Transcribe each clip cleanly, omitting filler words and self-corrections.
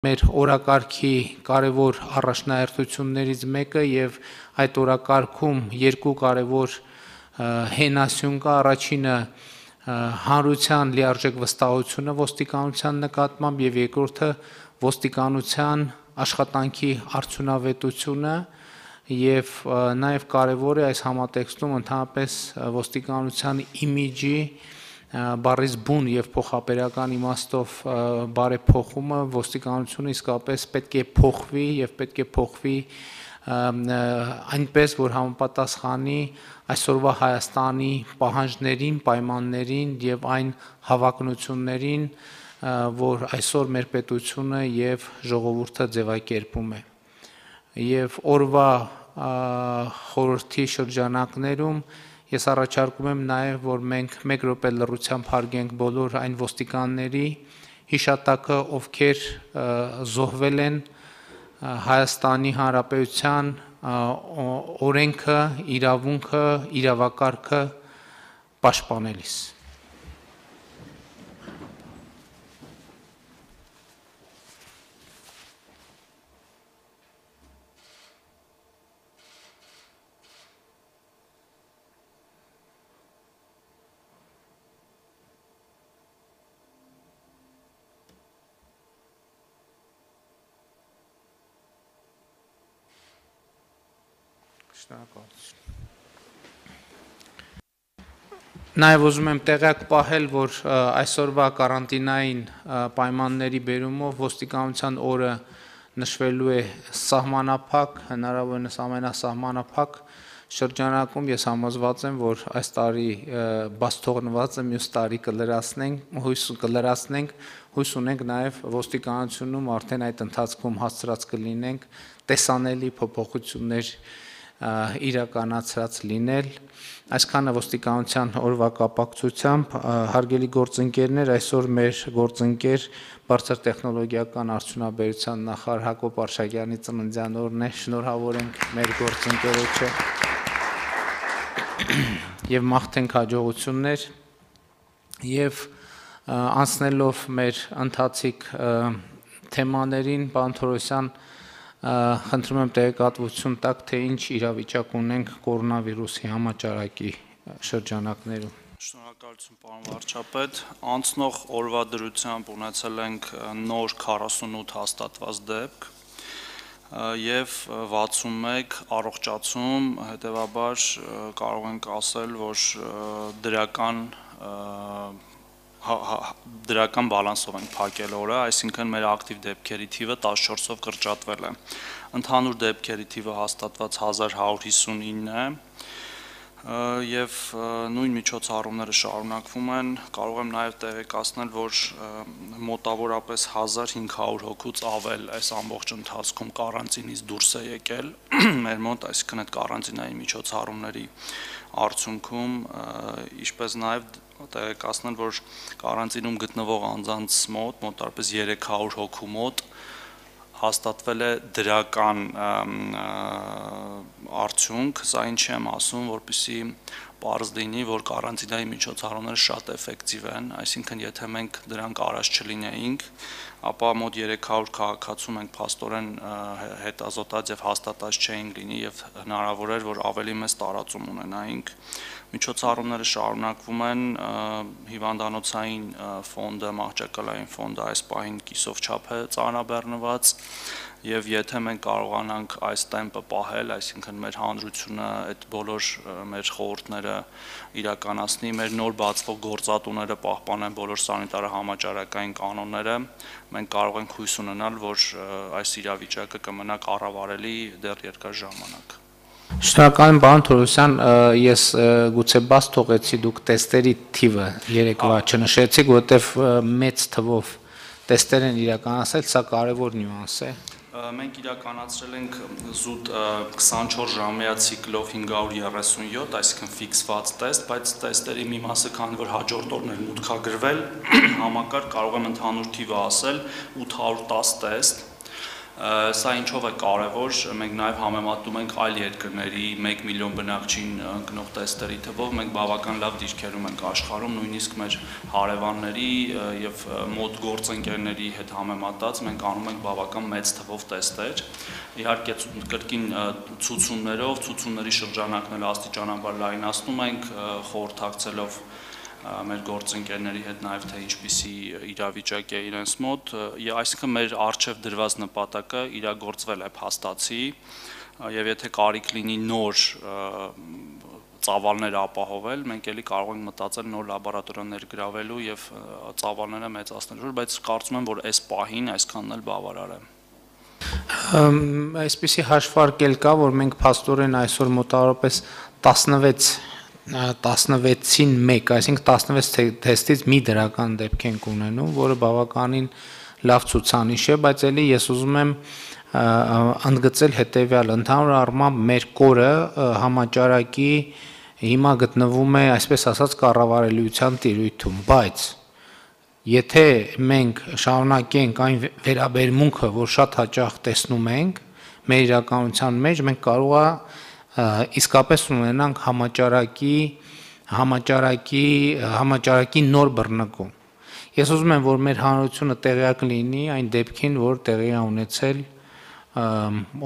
մեր օրակարգի կարևոր առաջնահերթություններից մեկը եւ այդ օրակարգում երկու կարևոր հենասյուն կա, առաջինը հանրության լիարժեք վստահությունը ոստիկանության նկատմամբ եւ երկրորդը ոստիկանության աշխատանքի արդյունավետությունը եւ նաեւ կարևոր է այս համատեքստում ընդհանրապես ոստիկանության իմիջի բառից բուն եւ փոխաբերական իմաստով բարեփոխումը ոստիկանությունը իսկապես պետք է փոխվի եւ պետք է փոխվի այնպես որ համապատասխանի այսօրվա Հայաստանի պահանջներին, պայմաններին եւ այն հավակնություններին, որ այսօր մեր պետությունը եւ ժողովուրդը ձևակերպում է։ Եվ օրվա խորհրդի շրջանակներում ես առաջարկում եմ նաև, որ մենք մեկ րոպե լռությամբ հարգենք բոլոր այն ոստիկանների հիշատակը, ովքեր զոհվել են Հայաստանի Հանրապետության օրենքը, իրավունքը, իրավակարգը պաշտպանելիս։ Նաև ուզում եմ տեղյակ պահել, որ այսօրվա կարանտինային պայմանների բերումով ոստիկանության օրը նշվելու է սահմանափակ, հնարավորինս ամենասահմանափակ շրջանակում ես համոզված եմ, որ այս տարի բաց թողնվածը մյուս տարի կլրացնենք, հույս ունենք նաև ոստիկանությունում արդեն այդ ընթացքում հասցրած կլինենք տեսանելի փոփոխություններ իրականացրած լինել, այսքանը ոստիկանության օրվա կապակցությամբ, հարգելի գործընկերներ, այսօր մեր գործընկեր բարձր տեխնոլոգիական արդյունաբերության նախարար Հակոբ Արշակյանի ծննդյան օրն է, շնորհավոր ենք մեր գործընկերոջը եւ մաղթենք հաջողություններ եւ անցնելով մեր ընթացիկ թեմաներին, պարոն Թորոսյան, խնդրում եմ տեղեկատվություն տաք, թե ինչ իրավիճակ ունենք կորոնավիրուսի համաճարակի շրջանակներում։ Շնորհակալություն, պարոն վարչապետ, անցնող օրվա դրությամբ ունեցել ենք նոր 48 հաստատված դեպք եւ 61 առողջացում, հետեւաբար կարող ենք ասել, որ դրական բալանսով ենք փակել օրը, այսինքն մեր ակտիվ դեպքերի թիվը 14-ով կրճատվել է։ Ընդհանուր դեպքերի թիվը հաստատված 1159 է եւ նույն միջոցառումները շարունակվում են, կարող եմ նաեւ տեղեկացնել, որ մոտավորապես 1500 հոգուց ավել այս ամբողջ ընթացքում կարանտինից դուրս է եկել մեր մոտ, այսինքն այդ կարանտինային միջոցառումների արդյունքում, ինչպես նաեւ տեղեկացնել, որ կարանտինում գտնվող անձանց մոտ մոտարպես 300 հոգու մոտ հաստատվել է դրական արդյունք, սա ինչ եմ ասում, որպեսզի պարզ լինի, որ կարանտինայի միջոցառումները շատ էֆեկտիվ են, այսինքն եթե մենք դրանք արած չլինեինք, ապա մոտ 300 քաղաքացու մենք փաստորեն հետազոտած եւ հաստատած չէինք լինի եւ հնարավոր էր, որ ավելի մեծ տարածում ունենայինք։ Միջոցառումները շարունակվում են, հիվանդանոցային ֆոնդը, մահճակալային ֆոնդը այս պահին կիսով չափ է ծանրաբեռնված եւ եթե մենք կարողանանք այս տեմպը պահել, այսինքն մեր հանրությունը այդ բոլոր մեր խորհուրդները իրականացնի, մեր նոր բացվող գործատուները պահպանեն բոլոր սանիտար համաճարակային կանոնները, մենք կարող ենք հույս ունենալ, որ այս իրավիճակը կմնա կառավարելի դեռ երկար ժամանակ։ Շնորհակալ եմ, պարոն Թորոսյան, ես գուցե բաց թողեցի, դուք տեստերի թիվը երեկվա չնշեցիք, որովհետև մեծ թվով տեստեր են իրականացել, սա կարևոր նյուանս է։ Մենք իրականացրել ենք զուտ 24 ժամյա ցիկլով 537, այսինքն ֆիքսված տեստ, բայց տեստերի մի մասը, քանի որ հաջորդ օրն էր մուտքագրվել, համակարգ կարող եմ ընդհանուր թիվը ասել 810 տեստ, Սա ինչով է կարևոր, մենք նաև համեմատում ենք այլ երկրների 1 միլիոն բնակչին ընկնող տեստերի թվով, մենք բավական լավ դիրքերում ենք աշխարհում, նույնիսկ մեր հարևանների եւ մոտ գործընկերների հետ համեմատած մենք անում ենք բավական մեծ թվով տեստեր։ Իհարկե կրկին ցուցումների շրջանակները աստիճանաբար լայնացնում ենք, խորհրդակցելով մեր գործընկերների հետ նաև թե ինչպիսի իրավիճակ է իրենց մոտ, այսինքն մեր արժև դրված նպատակը իրագործվել է փաստացի, եւ եթե կարիք լինի նոր ծավալներ ապահովել, մենք էլի կարող ենք մտածել նոր լաբորատորիա ներգրավելու եւ ծավալները մեծացնելու, բայց կարծում եմ, որ այս պահին այսքանն էլ բավարար է։ Այսպիսի հաշվարկել կա, որ մենք փաստորեն այսօր մոտավորապես 16-ին 1, այսինքն 16 թեստից մի դրական դեպք ենք ունենում, որը բավականին լավ ցուցանիշ է, բայց էլի ես ուզում եմ ընդգծել հետևյալը, ընդհանուր առմամբ մեր կորը համաճարակի հիմա գտնվում է, այսպես ասած, կառավարելիության տիրույթում, բայց եթե մենք շարունակենք այն վերաբերմունքը, որ շատ հաճախ տեսնում ենք մեր իրականության մեջ, մենք կարող է իսկապես ունենանք համաճարակի նոր բռնկում։ Ես ուզում եմ, որ մեր հանրությունը տեղյակ լինի այն դեպքին, որ տեղի է ունեցել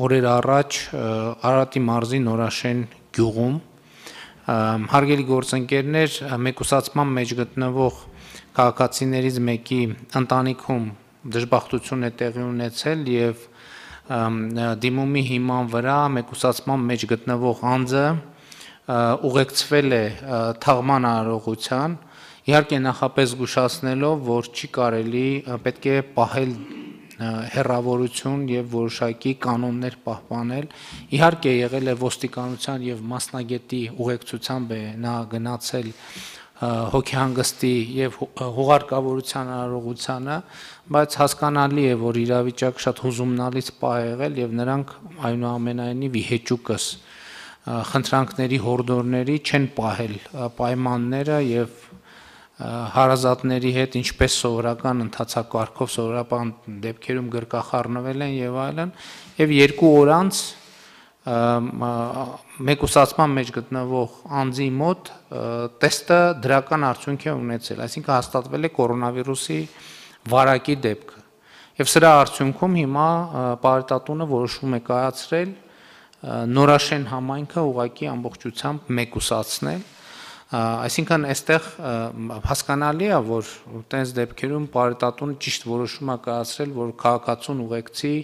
օրեր առաջ Արարատի մարզի Նորաշեն գյուղում, հարգելի գործընկերներ, մեկուսացման մեջ գտնվող քաղաքացիներից մեկի ընտանիքում դժբախտություն է տեղի ունեցել եւ դիմումի հիման վրա մեկուսացման մեջ գտնվող անձը ուղեկցվել է թաղման արարողության, իհարկե նախապես զգուշացնելով, որ չի կարելի, պետք է պահել հեռավորություն եւ որոշակի կանոններ պահպանել, իհարկե եղել է ոստիկանության եւ մասնագետի ուղեկցությամբ է նա գնացել հոգեհանգստի եւ հուղարկավորության արարողությանը, բայց հասկանալի է, որ իրավիճակ շատ հուզումնալից պահ է եղել եւ նրանք այնուամենայնիվ իհեճուկս խնդրանքների հորդորների չեն պահել պայմանները եւ հարազատների հետ ինչպես սովորական ընթացակարգով սովորական դեպքերում գրկախառնվել են եւ այլն եւ 2 օր անց մեկուսացման մեջ գտնվող անձի մոտ տեստը դրական արդյունք է ունեցել, այսինքն հաստատվել է կորոնավիրուսի վարակի դեպքը։ Եվ սրա արդյունքում հիմա պարետատունը որոշում է կայացրել Նորաշեն համայնքը ուղղակի ամբողջությամբ մեկուսացնել, այսինքն այստեղ հասկանալի է, որ տենց դեպքերում պարետատունը ճիշտ որոշում է կայացրել, որ քաղաքացուն ուղեկցի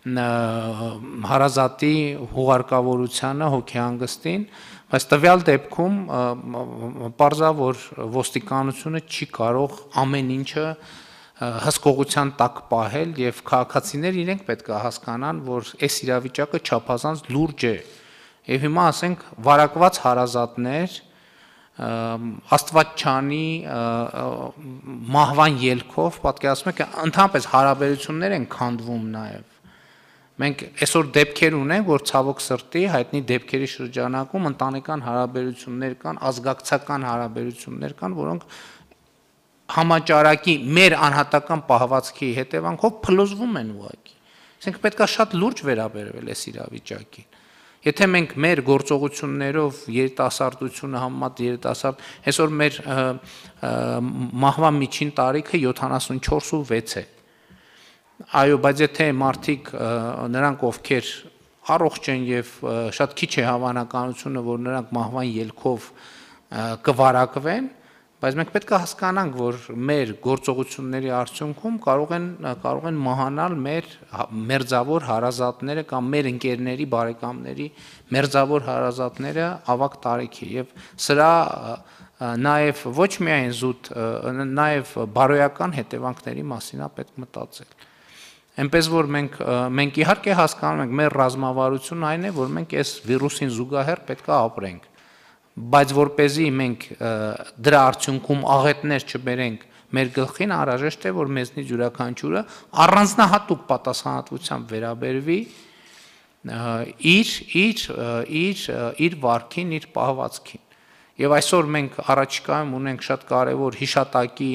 հարազատի հուղարկավորությանը, հոգեհանգստին, բայց տվյալ դեպքում պարզա, որ ոստիկանությունը չի կարող ամեն ինչը հսկողության տակ պահել եւ քաղաքացիներ իրենք պետք է հասկանան, որ այս իրավիճակը չափազանց լուրջ է։ Եվ հիմա ասենք վարակված հարազատներ Աստված չանի մահվան ելքով, պատկերացնում եք, ընդհանրապես հարաբերություններ են քանդվում նաեւ։ Մենք այսօր դեպքեր ունենք, որ ցավոք սրտի հայտնի դեպքերի շրջանակում ընտանեկան հարաբերություններ կան, ազգակցական հարաբերություններ կան, որոնք համաճարակի մեր անհատական պահվածքի հետևանքով փլուզվում են ուղղակի։ Այսինքն պետք է շատ լուրջ վերաբերվել այս իրավիճակին։ Եթե մենք մեր գործողություններով երիտասարդությունը համեմատ երիտասարդ, այսօր մեր մահվան միջին տարիքը 74.6 է։ Այո, բայց եթե մարդիկ նրանք ովքեր առողջ են եւ շատ քիչ է հավանականությունը, որ նրանք մահվան ելքով կվարակվեն, բայց մենք պետք է հասկանանք, որ մեր գործողությունների արդյունքում կարող են մահանալ մեր մերձավոր հարազատները կամ մեր ընկերների, բարեկամների մերձավոր հարազատները ավագ տարիքի եւ սրա նաեւ ոչ միայն զուտ, նաեւ բարոյական հետևանքների մասին է պետք մտածել։ Այնպես որ մենք իհարկե հասկանում ենք, մեր ռազմավարությունը այն է, որ մենք այս վիրուսին զուգահեռ պետք է ապրենք, բայց որպեսզի մենք դրա արդյունքում աղետներ չբերենք մեր գլխին, անհրաժեշտ է, որ մեզնից յուրաքանչյուրը առանձնահատուկ պատասխանատվությամբ վերաբերվի իր վարքին, իր պահվածքին։ Եվ այսօր մենք առաջիկայում ունենք շատ կարևոր հիշատակի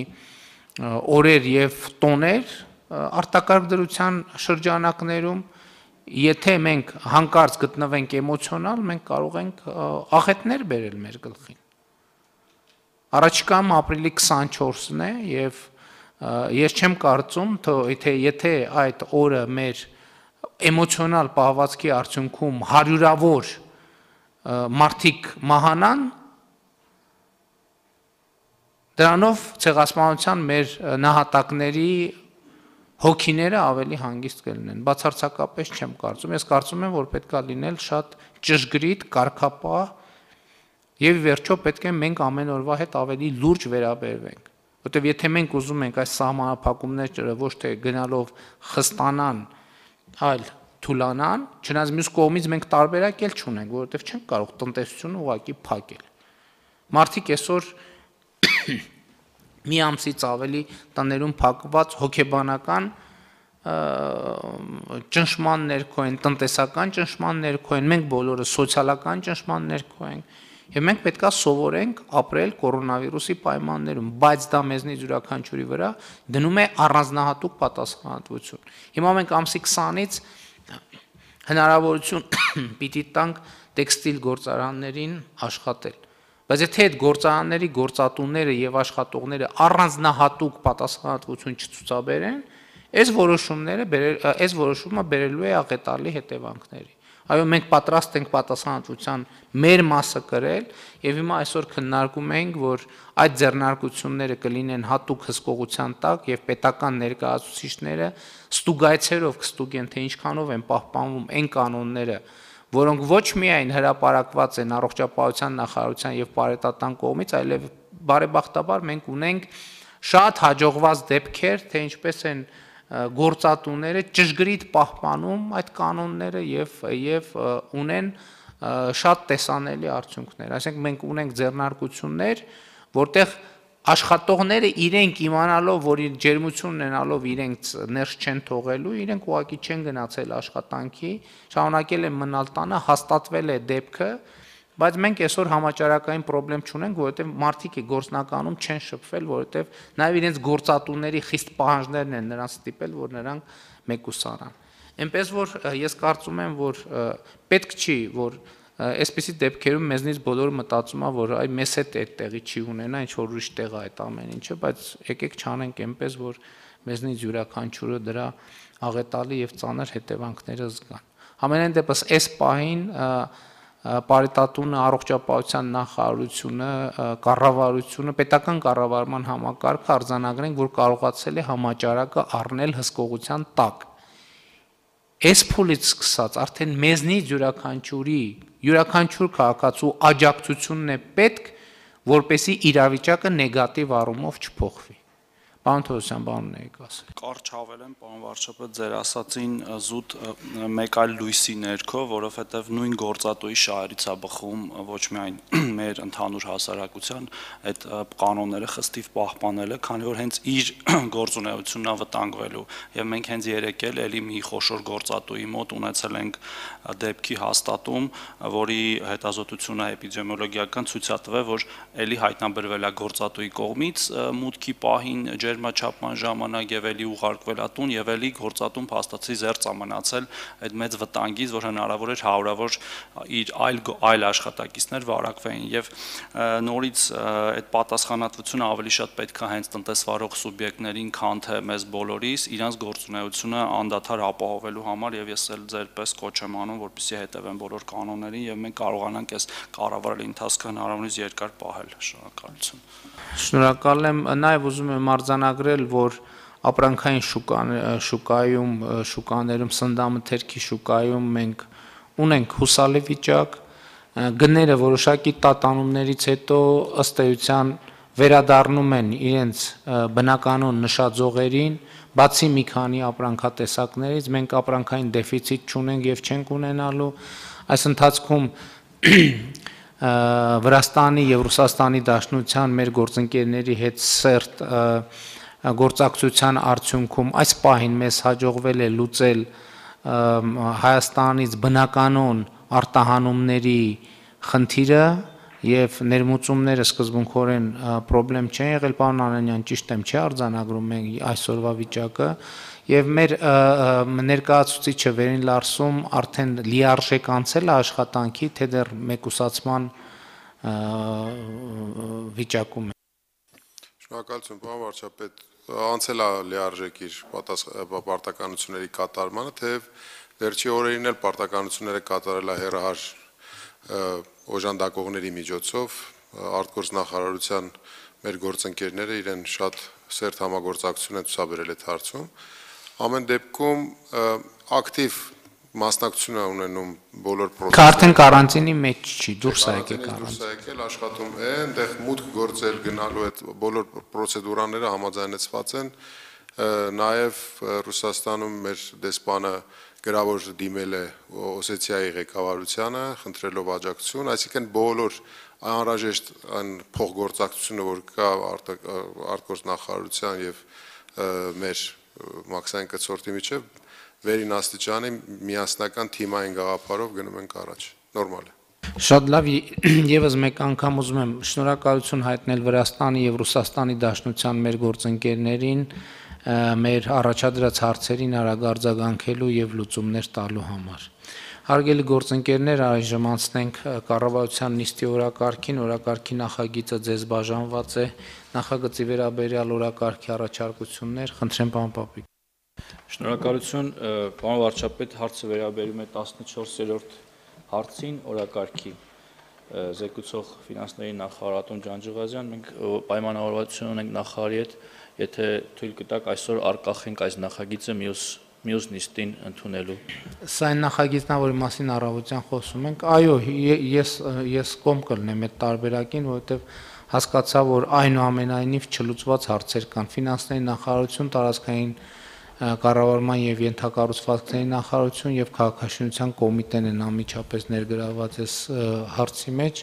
օրեր եւ տոներ, արտակարգ դրության շրջանակներում եթե մենք հանկարծ գտնվենք էմոցիոնալ, մենք կարող ենք աղետներ բերել մեր գլխին։ Առաջիկայում ապրիլի 24-ն է եւ ես չեմ կարծում, թե եթե այդ օրը մեր էմոցիոնալ պահվածքի արդյունքում հարյուրավոր մարդիկ մահանան, դրանով ցեղասպանության մեր նահատակների հոգիները ավելի հանգիստ կլինեն, բացարձակապես չեմ կարծում, ես կարծում եմ, որ պետք է լինել շատ ճշգրիտ, կարգապահ եւ վերջո պետք է մենք ամեն օրվա հետ ավելի լուրջ վերաբերվենք, որտեւ եթե մենք ուզում ենք այս սահմանափակումները ոչ թե գնալով խստանան, այլ թուլանան, չնայած մյուս կողմից մենք տարբերակ էլ չունենք, որովհետեւ չենք կարող տնտեսությունը ուղղակի փակել։ Մարդիկ այսօր մի ամսից ավելի տներում փակված հոգեբանական ճնշման ներքո են, տնտեսական ճնշման ներքո են, մենք բոլորը սոցիալական ճնշման ներքո ենք, եւ մենք պետք է սովորենք ապրել կորոնավիրուսի պայմաններում, բայց դա մեզնից յուրաքանչյուրի վրա դնում է առանձնահատուկ պատասխանատվություն։ Հիմա մենք ամսի 20-ից հնարավորություն պիտի տանք տեքստիլ գործարաններին աշխատել։ Բայց եթե այդ գործարանների գործատուները եւ աշխատողները առանձնահատուկ պատասխանատվություն չցուցաբերեն, այս որոշումը բերելու է աղետալի հետևանքների։ Այո, մենք պատրաստ ենք պատասխանատվության մեր մասը կրել եւ հիմա այսօր քննարկում ենք, որ այդ ձեռնարկությունները կլինեն հատուկ հսկողության տակ եւ պետական ներկայացուցիչները ստուգայցերով կստուգեն, թե ինչքանով են պահպանվում այն կանոնները, որոնք ոչ միայն հրապարակված են առողջապահության նախարարության եւ պարետատան կողմից, այլև բարեբախտաբար մենք ունենք շատ հաջողված դեպքեր, թե ինչպես են գործատուները ճշգրիտ պահպանում այդ կանոնները եւ ունեն շատ տեսանելի արդյունքներ։ Այսինքն մենք ունենք ձեռնարկություններ, որտեղ աշխատողները իրենք իմանալով, որ ջերմություն ունենալով իրենք ներս չեն թողելու, իրենք ուղղակի չեն գնացել աշխատանքի, շարունակել են մնալ տանը, հաստատվել է դեպքը, բայց մենք այսօր համաճարակային խնդրեմ չունենք, որովհետև մարդիկ գործնականում չեն շփվել, որովհետև նաև իրենց գործատուների խիստ պահանջներն են նրանց ստիպել, որ նրանք մեկուսանան։ Այնպես որ ես կարծում եմ, որ պետք չի, որ այսպիսի դեպքերում մեզնից բոլորը մտածում է, որ այ մեզ հետ այդ տեղի չի ունենա, ինչ որ ուրիշ տեղ է այդ ամեն ինչը, բայց եկեք չանենք այնպես, որ մեզնից յուրաքանչյուրը դրա աղետալի եւ ծանր հետևանքները զգան։ Համենայն դեպս այս պահին պարետատունը, առողջապահության նախարարությունը, կառավարությունը, պետական կառավարման համակարգը արձանագրենք, որ կարողացել է համաճարակը առնել հսկողության տակ։ Այս փուլից սկսած արդեն մեզնից յուրաքանչյուր քաղաքացու աջակցությունն է պետք, որպեսզի իրավիճակը նեգատիվ առումով չփոխվի։ Պարոն Թովոսյան, բան ունեիք ասել։ Կարճ հավելեմ, պարոն վարչապետ, ձեր ասացին զուտ մեկ այլ լույսի ներքո, որովհետև նույն գործատուի շահերից է բխում ոչ միայն մեր ընդհանուր հասարակության այդ կանոնները խստիվ պահպանելը, քանի որ հենց իր գործունեությունն է վտանգվելու, եւ մենք հենց երեկ էլ էլի մի խոշոր գործատուի մոտ ունեցել ենք դեպքի հաստատում, որի հետազոտությունը էպիդեմիոլոգիական ցույց է տվել, որ էլի հայտնաբերվել է գործատուի կողմից մուտքի պահին ջերմաչափման ժամանակ եւ էլի ուղարկվել ատուն եւ էլի գործատուն փաստացի զերծ մնացել այդ մեծ վտանգից, որ հնարավոր էր հարյուրավոր իր այլ աշխատակիցներ վարակվեին եւ նորից այդ պատասխանատվությունը ավելի շատ պետք է հենց տնտեսվարող սուբյեկտներին, քան թե մեզ բոլորիս իրանց գործունեությունը անդադար ապահովելու համար եւ ես էլ ձերպես կոչ եմ անում, որպեսզի հետևեն բոլոր կանոններին եւ մենք կարողանանք այս կառավարելի ընթացքը հնարավորինս երկար պահել։ Շնորհակալություն։ Շնորհակալ եմ, նաեւ ուզում եմ արձանագրել, որ ապրանքային շուկաներում, սննդամթերքի շուկայում մենք ունենք հուսալի վիճակ, գները որոշակի տատանումներից հետո ըստ էության վերադառնում են իրենց բնականon նշաձողերին, բացի մի քանի ապրանքատեսակներից մենք ապրանքային դեֆիցիտ չունենք եւ չենք ունենալու, այս ընթացքում Վրաստանի եւ Ռուսաստանի Դաշնության մեր գործընկերների հետ սերտ գործակցության արդյունքում այս պահին մեզ հաջողվել է լուծել Հայաստանից բնականon արտահանումների խնդիրը եւ ներմուծումները սկզբունքորեն խնդրեմ չեն եղել, պարոն Անանյան, ճիշտ եմ, չէ՞ արձանագրում ենք այսօրվա վիճակը եւ մեր ներկայացուցիչը Վերին Լարսում արդեն լիարժեք անցել է աշխատանքի, թե դեռ մեկուսացման վիճակում է։ Շնորհակալություն, պարոն վարչապետ, անցել է լիարժեք իր պարտականությունների կատարմանը, թեև վերջի օրերին էլ պարտականությունները կատարել է հեռահար օժանդակողների միջոցով, արտգործնախարարության մեր գործընկերները իրեն շատ սերտ համագործակցություն են ցուցաբերել այդ հարցում։ Ամեն դեպքում ակտիվ մասնակցություն է ունենում բոլոր procesները։ Արդեն կարանտինի մեջ չի, դուրս է եկել կարանտին, աշխատում է, այնտեղ մուտք գործել գնալու այդ բոլոր պրոցեդուրաները համաձայնեցված են, նաև Ռուսաստանում մեր դեսպանը գրավոր դիմել է Օսեթիայի ղեկավարությանը, խնդրելով աջակցություն, այսինքն բոլոր անհրաժեշտ այն փոխգործակցությունը, որ կա արտգործնախարարության եւ մեր Մաքսային կցորդի միջև վերին աստիճանի միասնական թիմային գաղափարով գնում ենք առաջ, նորմալ է։ Շատ լավ, եւս մեկ անգամ ուզում եմ շնորհակալություն հայտնել Վրաստանի եւ Ռուսաստանի Դաշնության մեր գործընկերներին, մեր առաջադրած հարցերին արագ արձագանքելու եւ լուծումներ տալու համար։ Հարգելի գործընկերներ, այժմ անցնենք կառավարության նիստի օրակարգին, օրակարգի նախագիծը ձեզ բաժանված է, նախագծի վերաբերյալ օրակարգի առաջարկություններ, խնդրեմ պարոն Պապիկ։ Շնորհակալություն, պարոն վարչապետ, հարցը վերաբերում է 14-րդ հարցին օրակարգի զեկուցող ֆինանսների նախարար Ատոմ Ջանջղազյան, մենք պայմանավորվածություն ունենք նախարարի հետ, եթե թույլ կտաք այսօր արկախենք այս նախագիծը մյուս նիստին ընդունելու։ Սա այն նախագիծն է, որի մասին առավոտյան խոսում ենք։ Այո, ես կողմ կլինեմ այդ տարբերակին, որովհետև հասկացա, որ այնուամենայնիվ չլուծված հարցեր կան։ Ֆինանսների նախարարություն, տարածքային կառավարման եւ ենթակառուցվածքների նախարարություն եւ քաղաքաշինության կոմիտեն են անմիջապես ներգրաված այս հարցի մեջ։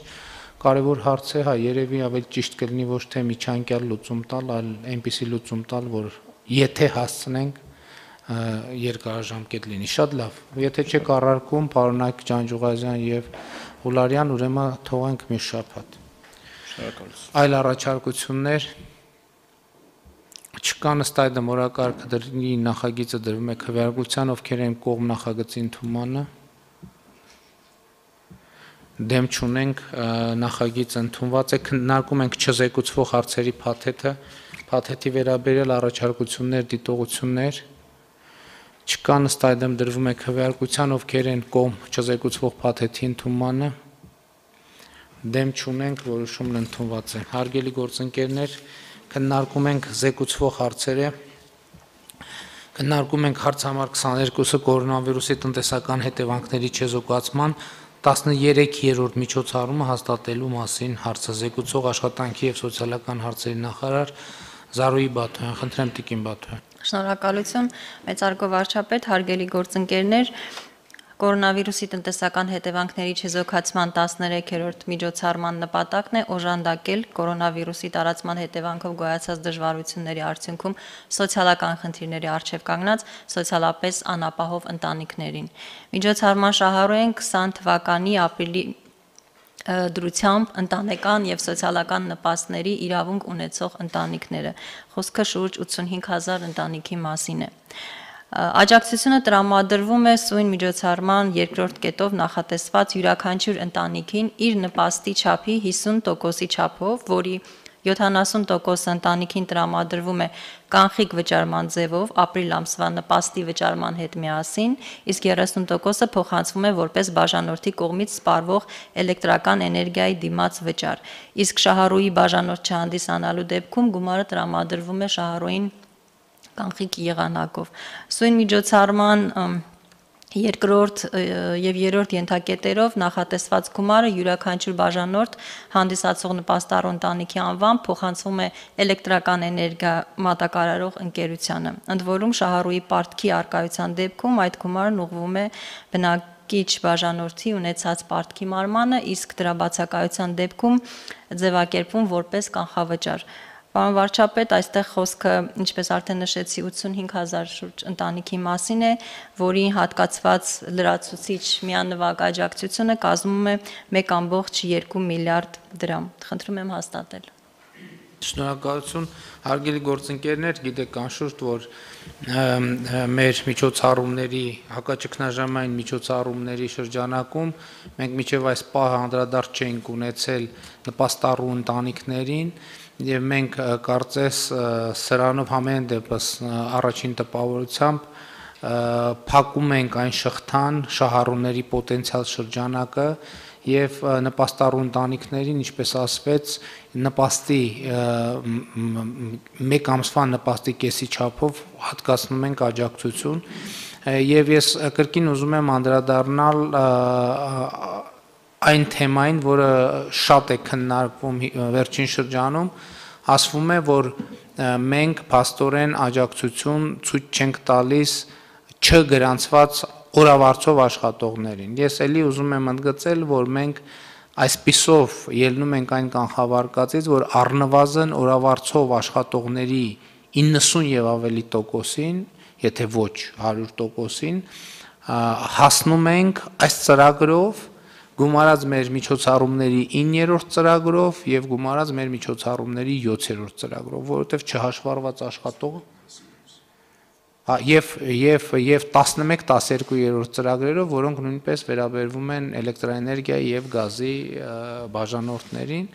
Կարևոր հարց է, հա, երևի ավելի ճիշտ կլինի ոչ թե միջանկյալ լուծում տալ, այլ այնպիսի լուծում տալ, որ եթե հասցնենք երկարաժամկետ լինի։ Շատ լավ։ Եթե չեք առարկում, պարոնայք Ջանջուղազյան եւ Հուլարյան, ուրեմն թողենք մի շաբաթ։ Շնորհակալություն։ Այլ առաջարկություններ չկա, ըստ այդմ օրակարգը դրի նախագիծը դրվում է քվեարկության, ովքեր են կողմ նախագծի ընդունմանը։ Դեմ չունենք, նախագիծը ընդունված է, քննարկում ենք չզեկուցվող հարցերի փաթեթի վերաբերյալ առաջարկություններ, դիտողություններ չկան, ըստ այդմ դրվում է քվեարկության, ովքեր են կողմ չզեկուցվող փաթեթի ընդունմանը։ Դեմ չունենք, որոշումն ընդունված է։ Հարգելի գործընկերներ, քննարկում ենք զեկուցվող հարցերը, քննարկում ենք հարց համար 22-ը կորոնավիրուսի տնտեսական հետևանքների չեզոքացման 13-րդ միջոցառումը հաստատելու մասին հարցը զեկուցող աշխատանքի եւ սոցիալական հարցերի նախարար Զարուհի Բաթոյան, խնդրեմ տիկին Բաթոյան։ Շնորհակալություն, մեծարգո վարչապետ, հարգելի գործընկերներ, կորոնավիրուսի տնտեսական հետևանքների չեզոքացման 13-րդ միջոցառման նպատակն է օժանդակել կորոնավիրուսի տարածման հետևանքով գոյացած դժվարությունների արդյունքում սոցիալական խնդիրների առջև կանգնած սոցիալապես անապահով ընտանիքներին։ Միջոցառման շահառու են 20 թվականի ապրիլի դրությամբ ընտանեկան եւ սոցիալական նպաստների իրավունք ունեցող ընտանիքները։ Խոսքը շուրջ 85,000 ընտանիքի մասին է։ Աջակցությունը տրամադրվում է սույն միջոցառման երկրորդ կետով նախատեսված յուրաքանչյուր ընտանիքին իր նպաստի չափի 50%-ի չափով, որի 70% ընտանիքին տրամադրվում է կանխիկ վճարման ձևով ապրիլ ամսվա նպաստի վճարման հետ միասին, իսկ 30%-ը փոխանցվում է որպես բաժանորդի կողմից սպառվող էլեկտրական էներգիայի դիմաց վճար, իսկ շահառուի բաժանորդ չհանդիսանալու դեպքում գումարը տրամադրվում է շահառուին կանխիկ եղանակով։ Սույն միջոցառման երկրորդ եւ երրորդ ենթակետերով նախատեսված գումարը յուրաքանչյուր բաժանորդ հանդիսացող նպաստառու ընտանիքի անվամբ փոխանցվում է էլեկտրական էներգիա մատակարարող ընկերությանը։ Ընդ որում շահառուի պարտքի արկայության դեպքում այդ գումարն ուղղվում է բնակիչ բաժանորդի ունեցած պարտքի մարմանը, իսկ դրա բացակայության դեպքում ձևակերպվում որպես կանխավճար։ Պարոն վարչապետ, այստեղ խոսքը, ինչպես արդեն նշեցի, 85,000 շուրջ ընտանիքի մասին է, որի հատկացված լրացուցիչ միանվագ աջակցությունը կազմում է 1.2 միլիարդ դրամ։ Խնդրում եմ հաստատել։ Շնորհակալություն, հարգելի գործընկերներ, գիտեք անշուշտ, որ մեր միջոցառումների, հակաճգնաժամային միջոցառումների շրջանակում մենք մինչև այս պահը անդրադարձ չենք ունեցել նպաստառու ընտանիքներին եւ մենք կարծես սրանով համեն դեպս առաջին տպավորությամբ փակում ենք այն շղթան, շահառուների պոտենցիալ շրջանակը եւ նպաստառու ընտանիքներին, ինչպես ասվեց, նպաստի մեկ ամսվա նպաստի կեսի չափով հատկացնում ենք աջակցություն եւ ես կրկին ուզում եմ անդրադառնալ այն թեմային, որը շատ է քննարկվում վերջին շրջանում, ասվում է, որ մենք փաստորեն աջակցություն ցույց չենք տալիս չգրանցված օրավարձով աշխատողներին։ Ես էլի ուզում եմ ընդգծել, որ մենք այսպիսով ելնում ենք այն կանխավարկածից, որ առնվազն օրավարձով աշխատողների 90 եւ ավելի տոկոսին, եթե ոչ 100%-ին, հասնում ենք այս ծրագրով, գումարած մեր միջոցառումների 9-րդ ծրագրով եւ գումարած մեր միջոցառումների 7-րդ ծրագրով, որովհետեւ չհաշվառված աշխատողը եւ 11-12-րդ ծրագրերով, որոնք նույնպես վերաբերվում են էլեկտրաէներգիայի եւ գազի բաժանորդներին,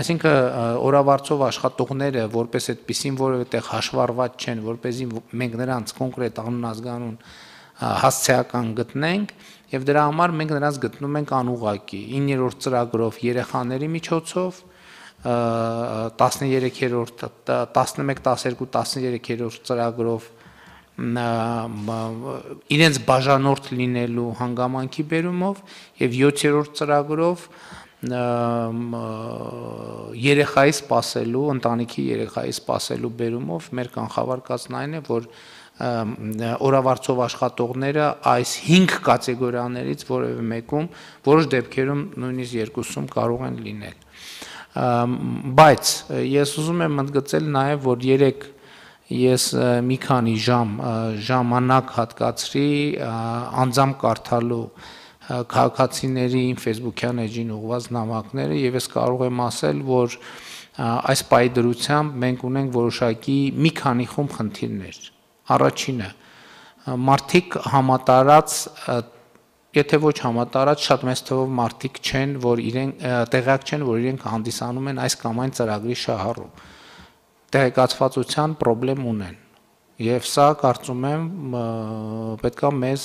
այսինքն օրավարձով աշխատողները որպես այդպեսին որևէ հաշվառված չեն, որպեսզի մենք նրանց կոնկրետ անուն ազգանուն հասցեական գտնենք եւ դրա համար մենք նրանց գտնում ենք անուղղակի 9-րդ ծրագրով երեխաների միջոցով 13-րդ 11, 12, 13-րդ ծրագրով իրենց բաժանորդ լինելու հանգամանքի բերումով եւ 7-րդ ծրագրով երեխայի սպասելու, ընտանիքի երեխայի սպասելու բերումով մեր կանխավարկածն այն է, որ օրավարձով աշխատողները այս 5 կատեգորիաներից որևէ մեկում, որոշ դեպքերում նույնիսկ երկուսում կարող են լինել։ Բայց ես ուզում եմ ընդգծել նաեւ, որ երեք ես մի քանի ժամանակ հատկացրի անձամբ կարդալու քաղաքացիների Facebook-յան էջին ուղղված նամակները եւ ես կարող եմ ասել, որ այս պայդրությամբ մենք ունենք որոշակի մի քանի խումբ խնդիրներ։ Առաջինը մարդիկ համատարած, եթե ոչ համատարած, շատ մեծ թվով մարդիկ չեն, որ իրենք տեղյակ չեն, որ իրենք հանդիսանում են այս կամ այն ծրագրի շահառու։ Տեղեկացվածության խնդրեմ ունեն եւ սա կարծում եմ պետքա մեզ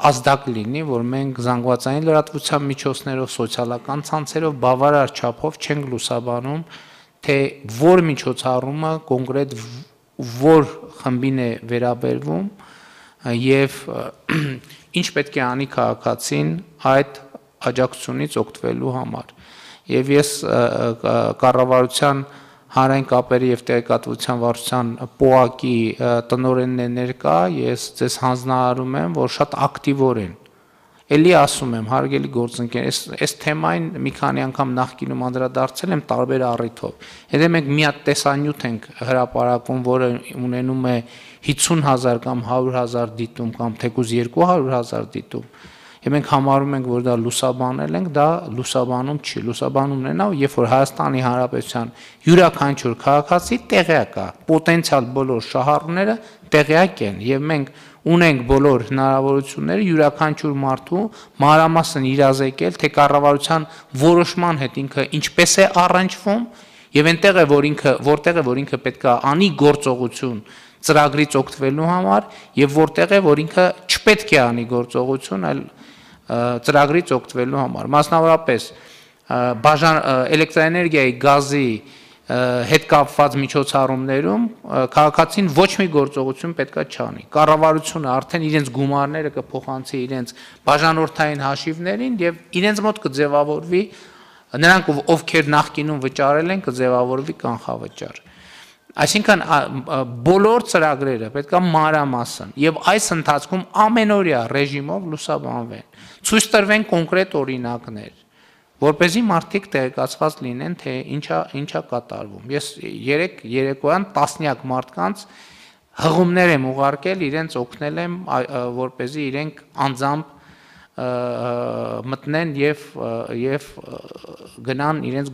ազդակ լինի, որ մենք զանգվածային լրատվության միջոցներով, սոցիալական ցանցերով բավարար չափով չենք լուսաբանում, թե որ միջոցառումը կոնկրետ որ խմբին է վերաբերվում եւ ինչ պետք է անի քաղաքացին այդ աջակցությունից օգտվելու համար։ Եվ ես կառավարության հանրային կապերի եւ տեղեկատվության վարչության ՊՕԱԿ-ի տնօրենն է ներկա, ես ձեզ հանձնարարում եմ, որ շատ ակտիվորեն Էլի ասում եմ, հարգելի գործընկեր, այս թեմային մի քանի անգամ նախկինում անդրադարձել եմ տարբեր առիթով։ Եթե մենք մի հատ տեսանյութ ենք հրապարակում, որը ունենում է 50,000 կամ 100,000 դիտում կամ թեկուզ 200,000 դիտում, եւ մենք համարում ենք, որ դա լուսաբանել ենք, դա լուսաբանում չի։ Լուսաբանումն է նա, երբ որ Հայաստանի Հանրապետության յուրաքանչյուր քաղաքացի տեղյակ է, պոտենցիալ բոլոր շահառուները տեղյակ են եւ մենք ունենք բոլոր հնարավորությունները յուրաքանչյուր մարդու մանրամասն իրազեկել, թե կառավարության որոշման հետ ինքը ինչպես է առնչվում եւ այնտեղ է, որտեղ է, որ ինքը պետք է անի գործողություն ծրագրից օգտվելու համար եւ որտեղ է, որ ինքը չպետք է անի գործողություն, այլ ծրագրից օգտվելու համար։ Մասնավորապես էլեկտրաէներգիայի, գազի հետ կապված միջոցառումներում քաղաքացին ոչ մի գործողություն պետքա չանի։ Կառավարությունը արդեն իրենց գումարները կփոխանցի իրենց բաժանորդային հաշիվներին եւ իրենց մոտ կձևավորվի նրանք ովքեր նախկինում վճարել են կձևավորվի կանխավճար։ Այսինքն բոլոր ծրագրերը պետքա մանրամասն եւ այս ընթացքում ամենօրյա ռեժիմով լուսաբանվեն։ Ցույց տրվեն կոնկրետ օրինակներ, որպեսզի մարդիկ տեղեկացված լինեն, թե ինչա կատարվում։ Ես երեկոյան տասնյակ մարդկանց հղումներ եմ ուղարկել, իրենց օգնել եմ, որպեսզի իրենք անձամբ մտնեն եւ գնան իրենց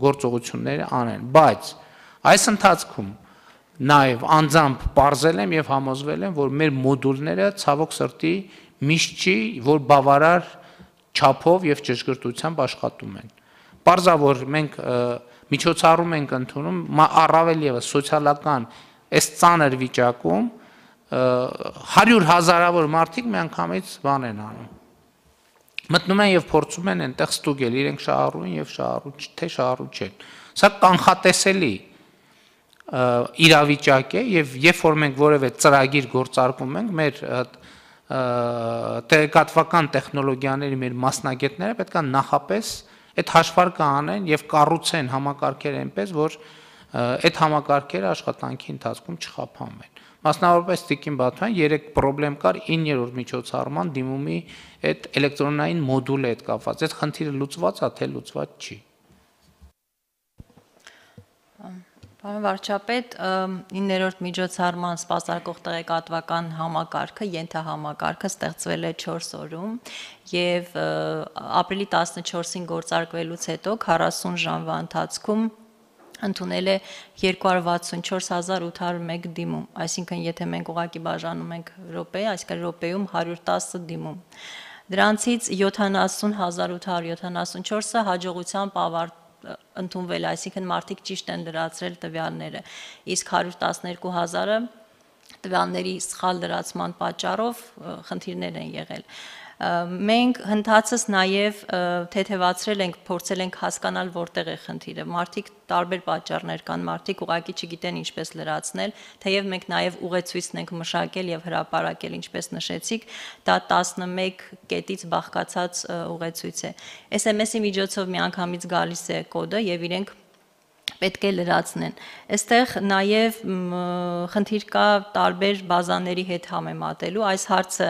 գործողությունները անեն, բայց այս ընթացքում նաեւ անձամբ բարձել եմ եւ համոզվել եմ, որ մեր մոդուլները ցավոք սրտի միշտ չի, որ բավարար չափով եւ ճշգրտությամբ աշխատում են։ Պարզա որ մենք միջոցառում ենք ընդունում, առավել եւս սոցիալական այս ծանր վիճակում 100,000-ավոր մարդիկ միանգամից բան են անում։ Մտնում են եւ փորձում են այնտեղ ստուգել իրենք շահառու են եւ շահառու թե շահառու չեն։ Սա կանխատեսելի իրավիճակ է եւ երբ որ մենք որևէ ծրագիր գործարկում ենք, մեր տեղեկատվական տեխնոլոգիաների մեր մասնագետները պետք է նախապես այդ հաշվարկը անեն եւ կառուցեն համակարգեր այնպես, որ այդ համակարգերը աշխատանքի ընթացքում չխափանվեն։ Մասնավորապես Տիկին Բաթյան 3 խնդրեմ կար 9-րդ միջոցառման դիմումի այդ էլեկտրոնային մոդուլը հետ կապված։ Այդ խնդիրը լուծված է, թե լուծված չի։ Պարոն վարչապետ, 9-րդ միջոցառման սպասարկող տեղեկատվական համակարգը, ենթահամակարգը ստեղծվել է 4 օրում եւ ապրիլի 14-ին գործարկվելուց հետո 40 ժամվա ընթացքում ընդունել է 264,801 դիմում, այսինքն եթե մենք ուղղակի բաժանում ենք րոպե, այսինքն րոպեում 110 դիմում։ Դրանցից 70,874-ը հաջողությամբ ընդունվել, այսինքն մարդիկ ճիշտ են լրացրել տվյալները, իսկ 112,000-ը տվյալների սխալ լրացման պատճառով խնդիրներ են եղել։ Մենք հնդածս նաև թեթևացրել ենք, փորձել ենք հասկանալ որտեղ է խնդիրը։ Մարդիկ տարբեր պատճառներ կան, մարդիկ ուղղակի չգիտեն ինչպես լրացնել, թեև մենք նաև ուղեցույցն ենք մշակել եւ հրապարակել, ինչպես նշեցիք, դա 11 կետից բաղկացած ուղեցույց է։ SMS-ի միջոցով միանգամից գալիս է կոդը եւ իրենք պետք է լրացնեն։ Այստեղ նաև խնդիր կա տարբեր բազաների հետ համեմատելու, այս հարցը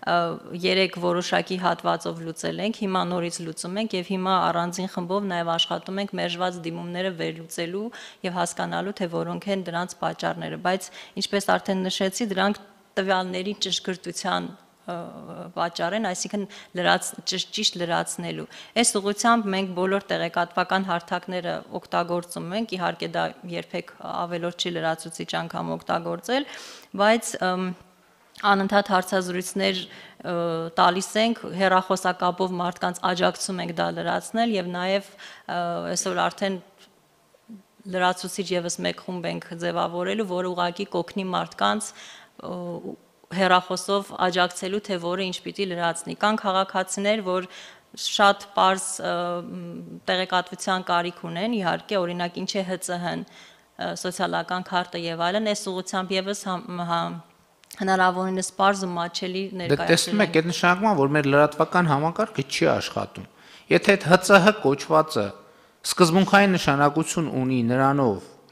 3 որոշակի հատվածով լուծել ենք, հիմա նորից լուծում ենք եւ հիմա առանձին խմբով նաեւ աշխատում ենք մերժված դիմումները վերլուծելու եւ հասկանալու թե որոնք են դրանց պատճառները, բայց ինչպես արդեն նշեցի, դրանք տվյալների ճշգրտության պատճառ են, այսինքն ճիշտ լրացնելու։ Այս ուղղությամբ մենք բոլոր տեղեկատվական հարթակները օգտագործում ենք, իհարկե դա երբեք ավելորդ չի լրացուցիչ անգամ օգտագործել, բայց անընդհատ հարցազրույցներ տալիս ենք, հեռախոսակապով մարդկանց աջակցում ենք դա լրացնել եւ նաեւ այսօր արդեն լրացուցիչ եւս մեկ խումբ ենք ձևավորելու, որը ուղղակի կօգնի մարդկանց հեռախոսով աջակցելու, թե որը ինչ պիտի լրացնի։ Կան քաղաքացիներ, որ շատ պարզ տեղեկատվության կարիք ունեն, իհարկե, օրինակ ինչ է ՀՑՀ-ն, սոցիալական քարտը եւ այլն, այս ուղղությամբ եւս հնարավորինս պարզ ու մատչելի ներկայացնել։ Տեսնում եք, այդ նշանակում է, որ մեր լրատվական համակարգը չի աշխատում։ Եթե այդ ՀՑՀ կոչվածը սկզբունքային նշանակություն ունի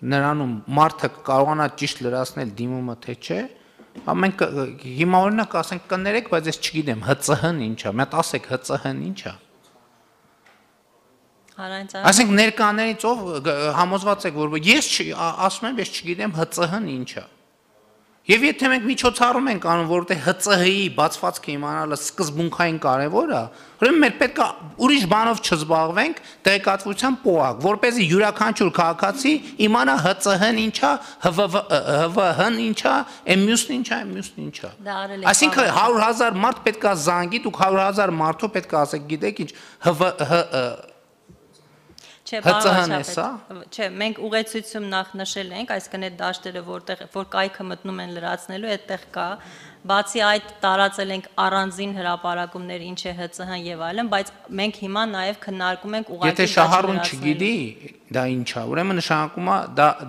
նրանում մարդը կարողանա ճիշտ լրացնել դիմումը թե չէ, մենք հիմա օրինակ ասենք կներեք, բայց ես չգիտեմ ՀՑՀ-ն ինչ է, մետ ասեք ՀՑՀ-ն ինչ է։ Այսինքն ներկաներից ով համոզված եք, որ ես ասում եմ, ես չգիտեմ ՀՑՀ-ն ինչ է։ Եվ եթե մենք միջոցառում ենք անում, որովհետեւ ՀՑՀ-ի բացվածքը իմանալը սկզբունքային կարևոր է, ուրեմն մեր պետք է ուրիշ բանով չզբաղվենք, տեղեկատվության պոակ, որպեսզի յուրաքանչյուր քաղաքացի իմանա ՀՑՀ-ն ինչ է, ՀՎՀ-ն ինչ է, մյուսն ինչ է, մյուսն ինչ է։ Այսինքն 100,000 մարդ պետք է զանգի, դուք 100,000 մարդու պետք է ասեք, գիտեք ինչ, Չէ, մենք ուղեցույցում նախ նշել ենք, այսինքն այդ դաշտերը, որ կայքը մտնում են լրացնելու, այդտեղ կա, բացի այդ տարածել ենք առանձին հրապարակումներ, ինչ է ՀՑՀ-ն եւ այլն, բայց մենք հիմա նաեւ քննարկում ենք ուղղակի Եթե շահառուն չգիտի, դա ինչ է, ուրեմն նշանակում է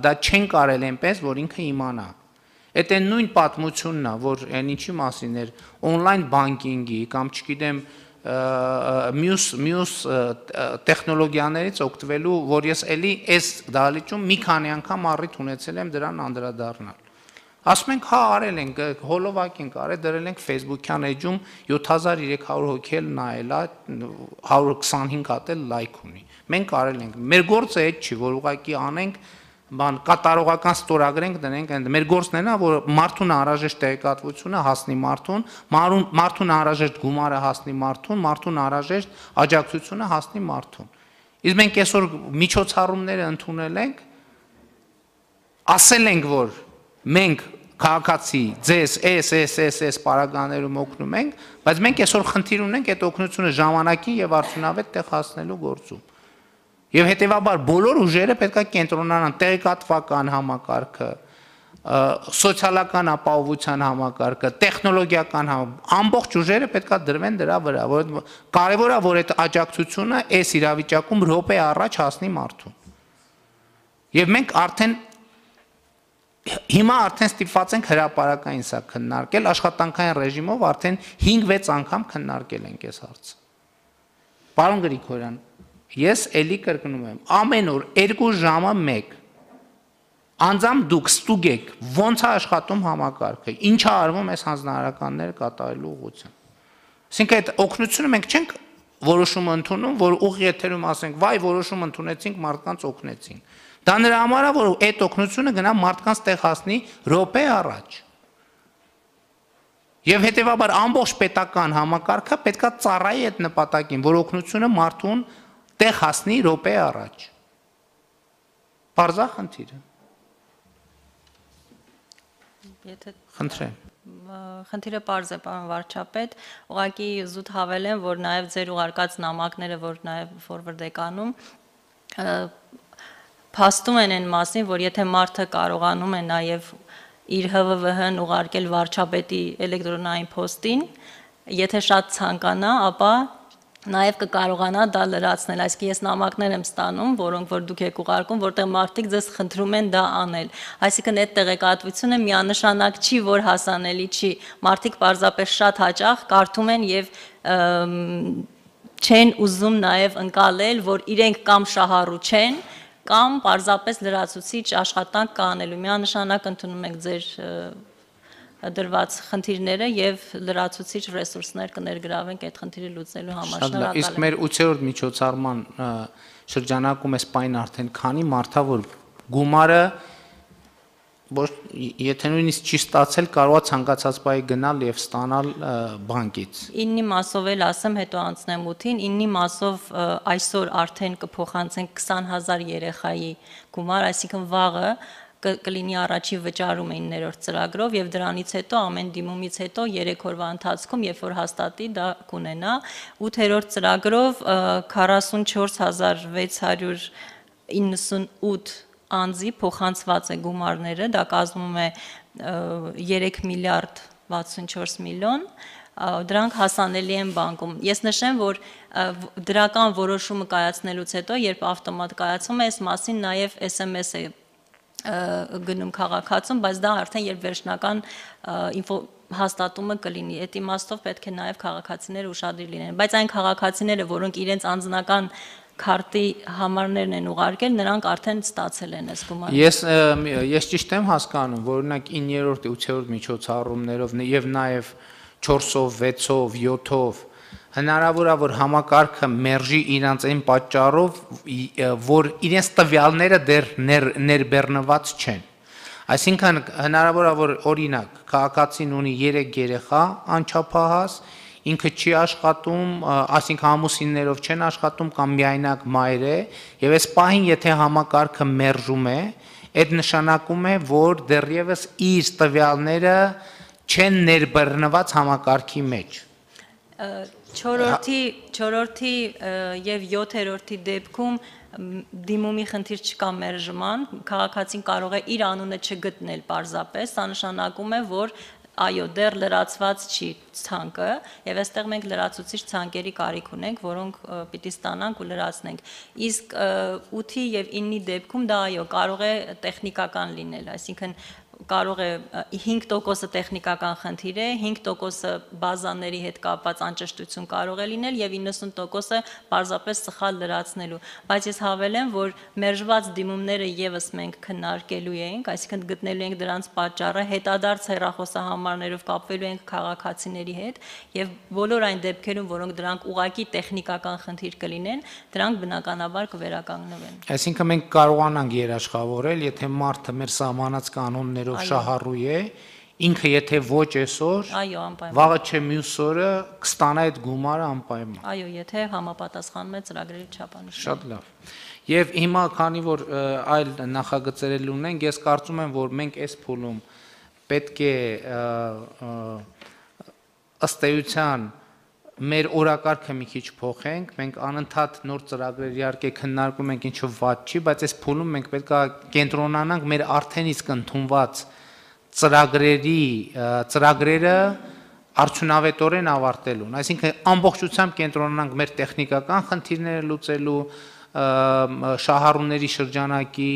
դա չեն կարել այնպես, որ ինքը իմանա։ Այդ այն նույն պատմությունն է, որ այն ինչի մասին էր on-line banking-ի կամ չգիտեմ մյուս տեխնոլոգիաներից օգտվելու, որ ես էլի այս դահլիճում մի քանի անգամ առիթ ունեցել եմ դրան անդրադառնալ։ Ասում ենք, հա, արել ենք, հոլովակ ենք արել, դրել ենք Facebook-յան էջում 7300 հոգի էլ նայել է, 125 հատ էլ լայք ունի։ Մենք արել ենք։ Մեր գործը այդ չի, որ ուղղակի անենք բան կատարողական ստորագրենք դնենք այնտեղ։ Մեր գործն է նա, որ մարդուն անհրաժեշտ տեղեկատվությունը հասնի մարդուն, մարդուն անհրաժեշտ գումարը հասնի մարդուն, մարդուն անհրաժեշտ աջակցությունը հասնի մարդուն։ Իսկ մենք այսօր միջոցառումները ընդունել ենք, ասել ենք, որ մենք քաղաքացի ձեզ այս պարագաներում օգնում ենք, բայց մենք այսօր խնդիր ունենք այդ օգնությունը ժամանակին եւ արդյունավետ տեղ հասնելու գործում։ Եվ հետեւաբար բոլոր ուժերը պետք է կենտրոնանան տեղեկատվական համակարգը, սոցիալական ապահովության համակարգը, տեխնոլոգիական ամբողջ ուժերը պետք է դրվեն դրա վրա, որ կարևոր է որ այդ աջակցությունը այս իրավիճակում րոպե առաջ հասնի մարդուն։ Եվ մենք հիմա արդեն ստիպված ենք հրապարակային սա քննարկել, աշխատանքային ռեժիմով արդեն 5-6 անգամ քննարկել ենք այս հարցը։ Պարոն Գրիգորյան, ես էլի կրկնում եմ, ամեն օր 2 ժամը 1 անձամբ դուք ստուգեք ոնց է աշխատում համակարգը, ինչ է արվում այս հանձնարարականները կատարելու ուղղությամբ։ Այսինքն այդ օգնությունը մենք չենք որոշումը ընդունում, որ ուղի եթերում ասենք, վայ որոշում ընդունեցինք, մարդկանց օգնեցինք։ Դա նրա համար է, որ այդ օգնությունը գնա մարդկանց տեղ հասնի րոպե առաջ։ Եվ հետևաբար ամբողջ պետական համակարգը պետք է ծառայի այդ նպատակին, որ օգնությունը մարդուն տեղ հասնի րոպե առաջ։ Պարզա խնդիրը։ Խնդրեմ։ Խնդիրը պարզ է, պարոն վարչապետ, ուղղակի զուտ հավելեմ, որ նաև ձեր ուղարկած նամակները, որ նաև ֆորվարդեկանում փաստում են այն մասին, որ եթե մարդը կարողանում է նաև իր ՀՎՎՀ-ն ուղարկել վարչապետի էլեկտրոնային փոստին, եթե շատ ցանկանա, ապա նաև կկարողանա դա լրացնել։ Այսինքն ես նամակներ եմ ստանում, որոնք որ դուք եք ուղարկում, որտեղ մարդիկ ձեզ խնդրում են դա անել։ Այսինքն այդ տեղեկատվությունը միանշանակ չի, որ հասանելի չի։ Մարդիկ պարզապես շատ հաճախ կարդում են եւ չեն ուզում նաև ընկալել, որ իրենք կամ շահառու չեն, կամ պարզապես լրացուցիչ աշխատանք կանելու։ Միանշանակ ընդունում ենք ձեր դրված խնդիրները եւ լրացուցիչ ռեսուրսներ կներգրավենք այդ խնդիրը լուծելու համար։ Շնորհակալ եմ։ Իսկ մեր 8-րդ միջոցառման շրջանակում էս պայն արդեն քանի մարդա որ գումարը եթե նույնիսկ չի ստացել կարող է ցանկացած պահի գնալ եւ ստանալ բանկից։ 9-ի մասով էլ ասեմ, հետո անցնեմ 8-ին, 9-ի մասով այսօր արդեն կփոխանցենք 20000 երեխայի գումար, այսինքն վաղը կլինի առաջի վճարումը 9-րդ ծրագրով եւ դրանից հետո ամեն դիմումից հետո 3 օրվա ընթացքում երբ որ հաստատի դա կունենա 8-րդ ծրագրով 44698 անձի փոխանցված է գումարները, դա կազմում է 3 միլիարդ 64 միլիոն, դրանք հասանելի են բանկում։ Ես նշեմ, որ դրական որոշումը կայացնելուց հետո, երբ ավտոմատ կայացում է, այս մասին նաև SMS է գնում քաղաքացում, բայց դա արդեն երբ վերջնական հաստատումը կլինի։ Այդ իմաստով պետք է նաև քաղաքացիները ուշադիր լինեն, բայց այն քաղաքացիները, որոնք իրենց անձնական քարտի համարներն են ուղարկել, նրանք արդեն ստացել են այս գումարը։ Ես ճիշտ եմ հասկանում, որ օրինակ 9-րդ, 8-րդ միջոցառումներով եւ նաեւ 4-ով, 6-ով, 7-ով հնարավոր է որ համակարգը մերժի իրանց այն պատճառով, որ իրենց տվյալները դեռ ներբեռնված չեն։ Այսինքն հնարավոր է որ օրինակ քաղաքացին ունի 3 երեխա անչափահաս, ինքը չի աշխատում, այսինքն ամուսիններով չեն աշխատում կամ միայնակ մայր է, եւ այս պահին եթե համակարգը մերժում է, այդ նշանակում է, որ դեռևս իր տվյալները չեն ներբեռնված համակարգի մեջ։ 4-րդի եւ 7-րդի դեպքում դիմումի խնդիր չկա մերժման, քաղաքացին կարող է իր անունը չգտնել պարզապես, դա նշանակում է, որ այո, դեռ լրացված չի ցանկը, եւ այստեղ մենք լրացուցիչ ցանկերի կարիք ունենք, որոնք պիտի ստանանք ու լրացնենք։ Իսկ 8-ի եւ 9-ի դեպքում դա այո, կարող է տեխնիկական լինել, այսինքն կարող է 5% տեխնիկական խնդիր է, 5% բազաների հետ կապված անճշտություն կարող է լինել եւ 90% պարզապես սխալ լրացնելու, բայց ես հավելեմ, որ մերժված դիմումները եւս մենք քննարկելու ենք, այսինքն գտնելու ենք դրանց պատճառը, հետադարձ հեռախոսահամարներով կապվելու ենք քաղաքացիների հետ եւ բոլոր այն դեպքերում, որոնք դրանք ուղղակի տեխնիկական խնդիր կլինեն, դրանք բնականաբար կվերականգնվեն։ Այսինքն մենք կարողանանք երաշխավորել, եթե մարդը մեր սահմանած կանոններով շահառու է, ինքը եթե ոչ այսօր, Այո, անպայման։ վաղը չէ մյուս օրը կստանա այդ գումարը անպայման։ Այո, եթե համապատասխանում է ծրագրերի չափանիշներին։ Շատ լավ։ Եվ հիմա քանի որ այլ նախագծեր ունենք, ես կարծում եմ, որ մենք այս փուլում պետք է ըստ էության մեր օրակարգը մի քիչ փոխենք, մենք անընդհատ նոր ծրագրեր իհարկե քննարկում ենք, ինչը վատ չի, բայց այս փուլում մենք պետք է կենտրոնանանք մեր արդեն իսկ ընդունված ծրագրերը արդյունավետորեն ավարտելուն, այսինքն ամբողջությամբ կենտրոնանանք մեր տեխնիկական խնդիրները լուծելու, շահառուների շրջանակի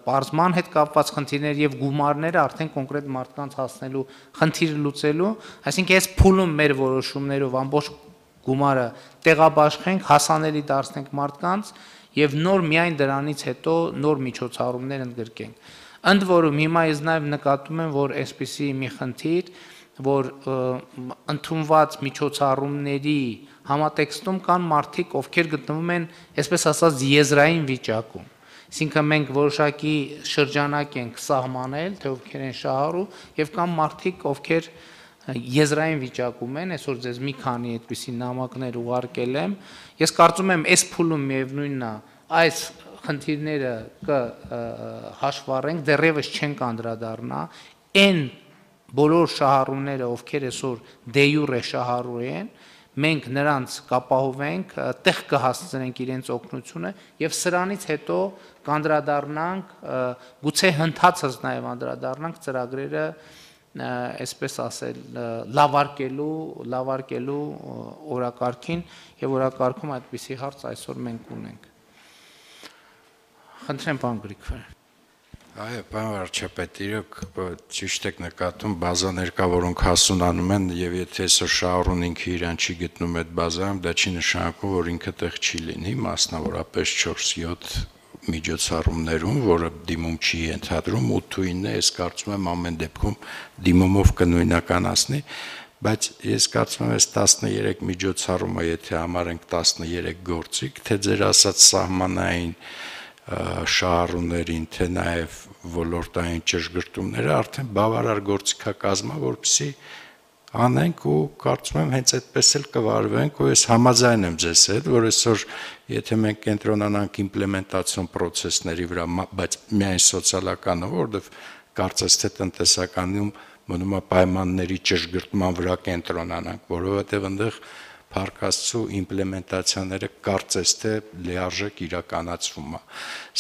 պարզման հետ կապված խնդիրներ եւ գումարները արդեն կոնկրետ մարդկանց հասնելու խնդիրը լուծելու, այսինքն այս փուլում մեր որոշումներով ամբողջ գումարը տեղաբաշխենք, հասանելի դարձնենք մարդկանց եւ նոր միայն դրանից հետո նոր միջոցառումներ ընդգրկենք։ Ընդ որում հիմա ես նաեւ նկատում եմ, որ այսպիսի մի խնդիր, որ ընդունված միջոցառումների համատեքստում կան մարդիկ, ովքեր գտնվում են, այսպես ասած, եզրային վիճակում։ Այսինքն մենք որոշակի շրջանակ ենք սահմանել, թե ովքեր են շահառու, եւ կան մարդիկ, ովքեր եզրային վիճակում են, այսօր ձեզ մի քանի այդպիսի նամակներ ուղարկել եմ։ Ես կարծում եմ, այս փուլում միևնույնն է, այս խնդիրները կհաշվառենք, դեռևս չենք անդրադառնա, այն բոլոր շահառուները, ովքեր այսօր դե յուրե շահառու են, մենք նրանց կապահովենք, տեղ կհասցնենք իրենց օգնությունը եւ սրանից հետո կանդրադառնանք, գուցե հնդածս նաեւ անդրադառնանք ծրագրերը, այսպես ասել, լավարկելու օրակարգին եւ օրակարգում այդպիսի հարց այսօր մենք ունենք։ Խնդրեմ, պարոն Գրիգորյան։ Այո, պարոն վարչապետ, իրոք ճիշտ եք նկատում, բազաներ կա, որոնք հասունանում են, եւ եթե այսօր շահառուն ինքը իրան չի գտնում այդ բազայում, դա չի նշանակում, որ ինքը տեղ չի լինի, մասնավորապես 4-7 միջոցառումներում, որը դիմում չի ենթադրում, 8-9-ն է, ես կարծում եմ ամեն դեպքում դիմումով կնույնականացնի, բայց ես կարծում եմ, այս 13 միջոցառումը, եթե համարենք 13 գործիք, թե ձեր ասած սահմանային շահառուներին, թե նաև ոլորտային ճշգրտումները արդեն բավարար գործիքակազմա, որպեսզի անենք ու կարծում եմ հենց այդպես էլ կվարվենք ու ես համաձայն եմ ձեզ հետ, որ այսօր եթե մենք կենտրոնանանք իմպլեմենտացիոն պրոցեսների վրա, բայց միայն սոցիալականը, որովհետև կարծես թե տնտեսականում մնում է պայմանների ճշգրտման վրա կենտրոնանանք, որովհետև այնտեղ Փառք Աստծո իմպլեմենտացիաները կարծես թե լիարժեք իրականացվում է։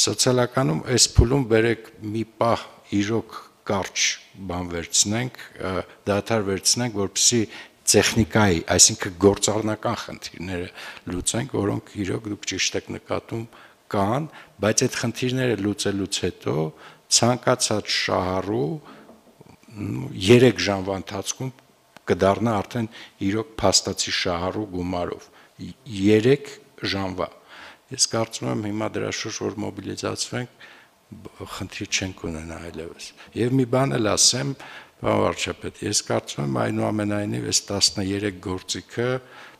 Սոցիալականում այս փուլում բերեք մի պահ իրոք կարճ բան վերցնենք, դադար վերցնենք, որպեսզի տեխնիկայի, այսինքն գործառնական խնդիրները լուծենք, որոնք իրոք դուք ճիշտ եք նկատում կան, բայց այդ խնդիրները լուծելուց հետո ցանկացած շահառու 3 ժամվա ընթացքում կդառնա արդեն իրոք փաստացի շահառու գումարով 3 ժամվա։ Ես կարծում եմ հիմա դրա շուրջ որ մոբիլիզացվենք խնդիր չենք ունենա այլևս։ Եվ մի բան էլ ասեմ, պարոն վարչապետ, ես կարծում եմ այնուամենայնիվ այս 13 գործիքը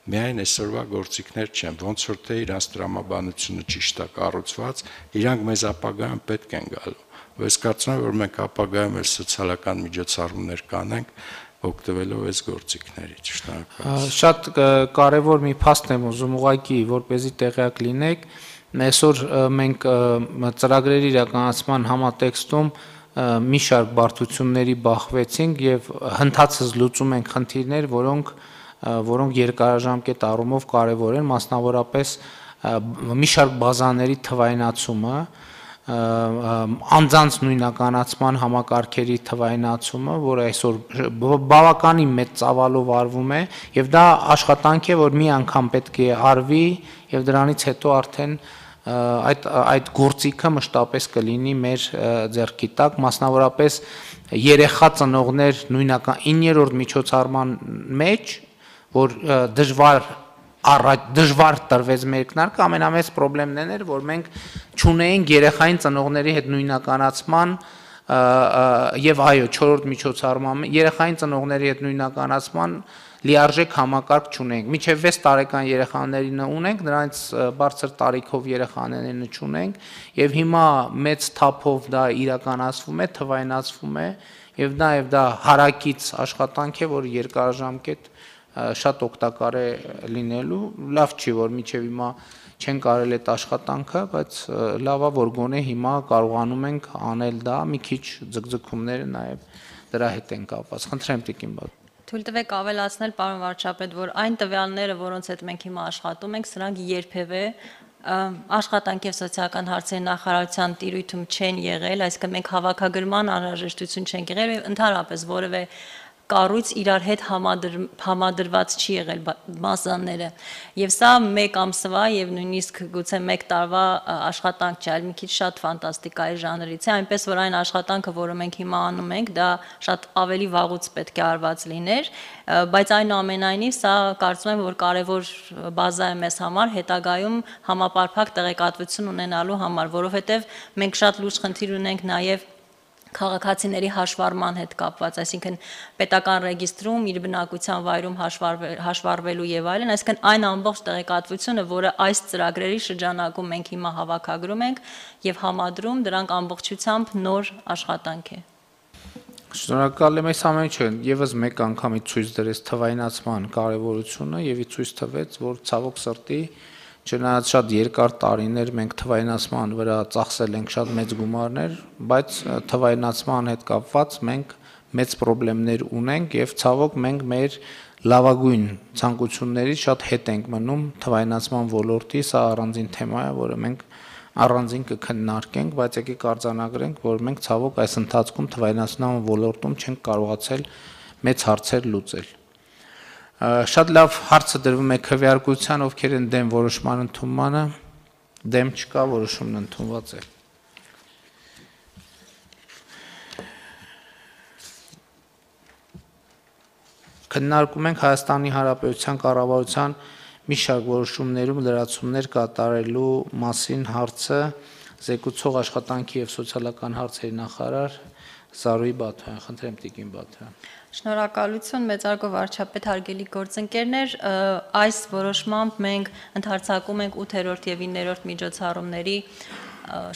միայն այսօրվա գործիքներ չեն, ոնց որ թե իրանց տրամաբանությունը ճիշտ է կառուցված, իրանք մեզ ապագայում պետք են գալու։ Ես կարծում եմ, որ մենք ապագայում էլ սոցիալական միջոցառումներ կանենք, օգտվելով այս գործիքներից, շնորհակալ։ Շատ կարևոր մի փաստ եմ ուզում ուղղակի, որպեսզի տեղյակ լինեք, այսօր մենք ծրագրերի իրականացման համատեքստում մի շարք բարդությունների բախվեցինք եւ հնդածս լուծում ենք խնդիրներ, որոնք երկարաժամկետ առումով կարևոր են, մասնավորապես մի շարք բազաների թվայնացումը, անձանց նույնականացման համակարգերի թվայնացումը, որը այսօր բավականին մեծ ծավալով արվում է, եւ դա աշխատանք է, որ մի անգամ պետք է արվի եւ դրանից հետո արդեն այդ գործիքը մշտապես կլինի մեր ձեռքի տակ, մասնավորապես երեխա ծնողներ նույնական 9-րդ միջոցառման մեջ, որ դժվար տրվեց մեկնարկը, ամենամեծ խնդիրն էր, որ մենք չունեինք երեխային ծնողների հետ նույնականացման եւ այո 4-րդ միջոցառման երեխային ծնողների հետ նույնականացման լիարժեք համակարգ չունենք։ Մինչև 6 տարեկան երեխաներին ունենք, նրանց բարձր տարիքով երեխաներին չունենք, եւ հիմա մեծ թափով դա իրականացվում է, թվայնացվում է, եւ նաեւ դա հարակից աշխատանք է, որ երկարաժամկետ շատ օգտակար է լինելու։ Լավ չի, որ մինչև հիմա չեն կարել այդ աշխատանքը, բայց լավ է, որ գոնե հիմա կարողանում ենք անել դա, մի քիչ ձգձգումները նաեւ դրա հետ են կապված։ Խնդրեմ տիկին բա։ Թույլ տվեք ավելացնել, պարոն վարչապետ, որ այն տվյալները, որոնց հետ մենք հիմա աշխատում ենք, սրանք երբևէ աշխատանք եւ սոցիալական հարցերի նախարարության տիրույթում չեն եղել, այսինքն մենք հավաքագրման անհրաժեշտություն չենք եղել, ընդհանրապես որևէ կառույց իրար հետ համադրված չի եղել բազաները եւ սա մեկ ամսվա եւ նույնիսկ գուցե մեկ տարվա աշխատանք չէ, այլ մի քիչ շատ ֆանտաստիկայի ժանրից է, այնպես որ այն աշխատանքը, որը մենք հիմա անում ենք, դա շատ ավելի վաղուց պետք է արված լիներ, բայց այնուամենայնիվ սա կարծում եմ, որ կարևոր բազա է մեզ համար հետագայում համապարփակ տեղեկատվություն ունենալու համար, որովհետեւ մենք շատ լուրջ խնդիր ունենք նաեւ քաղաքացիների հաշվառման հետ կապված, այսինքն պետական ռեգիստրում իր բնակության վայրում հաշվառվելու եւ այլն, այսինքն այն ամբողջ տեղեկատվությունը, որը այս ծրագրերի շրջանակում մենք հիմա հավաքագրում ենք եւ համադրում, դրանք ամբողջությամբ նոր աշխատանք է։ Շնորհակալ եմ այս ամենը, եւս մեկ անգամ ցույց դրեց թվայնացման կարեւորությունը եւ ցույց տվեց, որ ցավոք սրտի չնայած շատ երկար տարիներ մենք թվայնացման վրա ծախսել ենք շատ մեծ գումարներ, բայց թվայնացման հետ կապված մենք մեծ խնդիրներ ունենք եւ ցավոք մենք մեր լավագույն ցանկություններից շատ հետ ենք մնում թվայնացման ոլորտի, սա առանձին թեմա է, որը մենք առանձին կքննարկենք, բայց եկեք արձանագրենք, որ մենք ցավոք այս ընթացքում թվայնացման ոլորտում չենք կարողացել մեծ հարցեր լուծել։ Շատ լավ հարցը դրվում է քվեարկության, ովքեր են դեմ որոշման ընդունմանը, դեմ չկա, որոշումն ընդունված է։ Քննարկում ենք Հայաստանի Հանրապետության կառավարության մի շարք որոշումներում լրացումներ կատարելու մասին հարցը զեկուցող աշխատանքի եւ սոցիալական հարցերի նախարար Զարուհի Բաթոյան, խնդրեմ տիկին Բաթոյան։ Շնորհակալություն, մեծարգո վարչապետ, հարգելի գործընկերներ, այս որոշմամբ մենք ընդարձակում ենք 8-րդ եւ 9-րդ միջոցառումների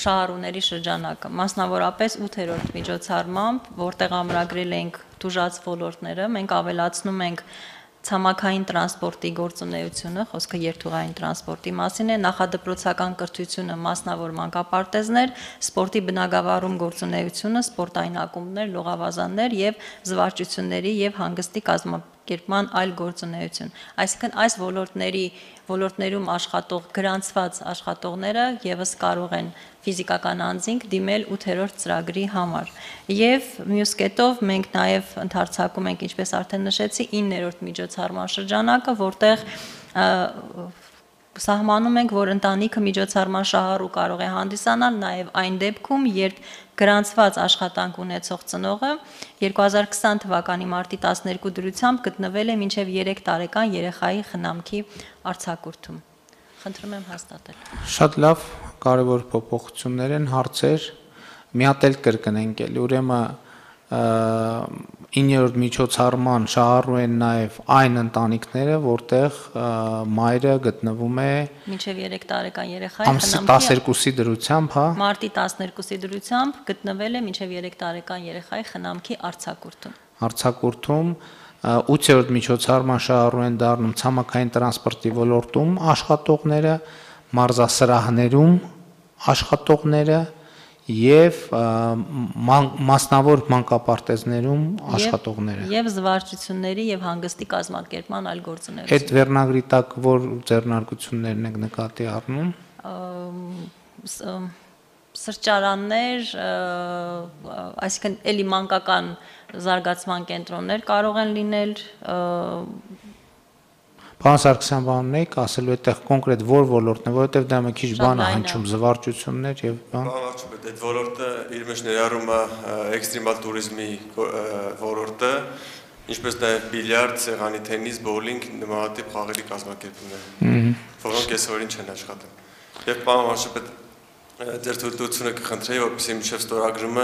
շահառուների շրջանակը, մասնավորապես 8-րդ միջոցառմամբ, որտեղ ամրագրել ենք դժուժած ոլորտները, մենք ավելացնում ենք ցամաքային տրանսպորտի գործունեությունը, խոսքը երթուղային տրանսպորտի մասին է, նախադպրոցական կրթությունը, մասնավոր մանկապարտեզներ, սպորտի բնագավառում գործունեությունը, սպորտային ակումբներ, լողավազաններ եւ զվարճությունների եւ հանգստի կազմակերպման այլ գործունեություն։ Այսինքն այս ոլորտներում աշխատող գրանցված աշխատողները եւս կարող են ֆիզիկական անձինք դիմել 8-րդ ծրագրի համար։ Եվ մյուս կետով մենք նաև ընդարձակում ենք, ինչպես արդեն նշեցի, 9-րդ միջոցառման շրջանակը, որտեղ սահմանում ենք, որ ընտանիքը միջոցառման շահառու կարող է հանդիսանալ նաև այն դեպքում, երբ գրանցված աշխատանք ունեցող ծնողը 2020 թվականի մարտի 12 դրությամբ գտնվել է մինչև 3 տարեկան երեխայի խնամքի արձակուրդում։ Խնդրում եմ հաստատել։ Շատ լավ, կարևոր փոփոխություններ են, հարցեր, մի հատ էլ կրկնենք էլի, ուրեմն 9-րդ միջոցառման շահառու են նաև այն ընտանիքները, որտեղ մայրը գտնվում է մինչև 3 տարեկան երեխայի ամսի 12-ի դրությամբ, հա, մարտի 12-ի դրությամբ գտնվել է մինչև 3 տարեկան երեխայի խնամքի արձակուրդում 8-րդ միջոցառման շահառու են դառնում ցամաքային տրանսպորտի ոլորտում աշխատողները, մարզասրահներում աշխատողները եւ մասնավոր մանկապարտեզներում աշխատողները եւ զվարճությունների եւ հանգստի կազմակերպման այլ գործունեություն։ Այդ վերնագրի տակ որ ձեռնարկություններն եք նկատի առնում։ Սրճարաններ, այսինքն էլի մանկական զարգացման կենտրոններ կարող են լինել։ Պարոն Սարգսյան, բանունեիք ասելու այդտեղ կոնկրետ որ ոլորտն է, որովհետև դա մի քիչ բան է հնչում, զվարճություններ եւ բան։ Բավարարում է, այդ ոլորտը իր մեջ ներառում է էքստրեմալ туриզմի ոլորտը, ինչպես նաև բիլիարդ, սեղանի թենիս, բոուլինգ, նմանատիպ խաղերի կազմակերպումներ, որոնք այսօրին չեն աշխատում։ Եվ պարոն վարչապետ, ձեր թույլտվությունը կխնդրեի, որպեսզի մինչև ստորագրումը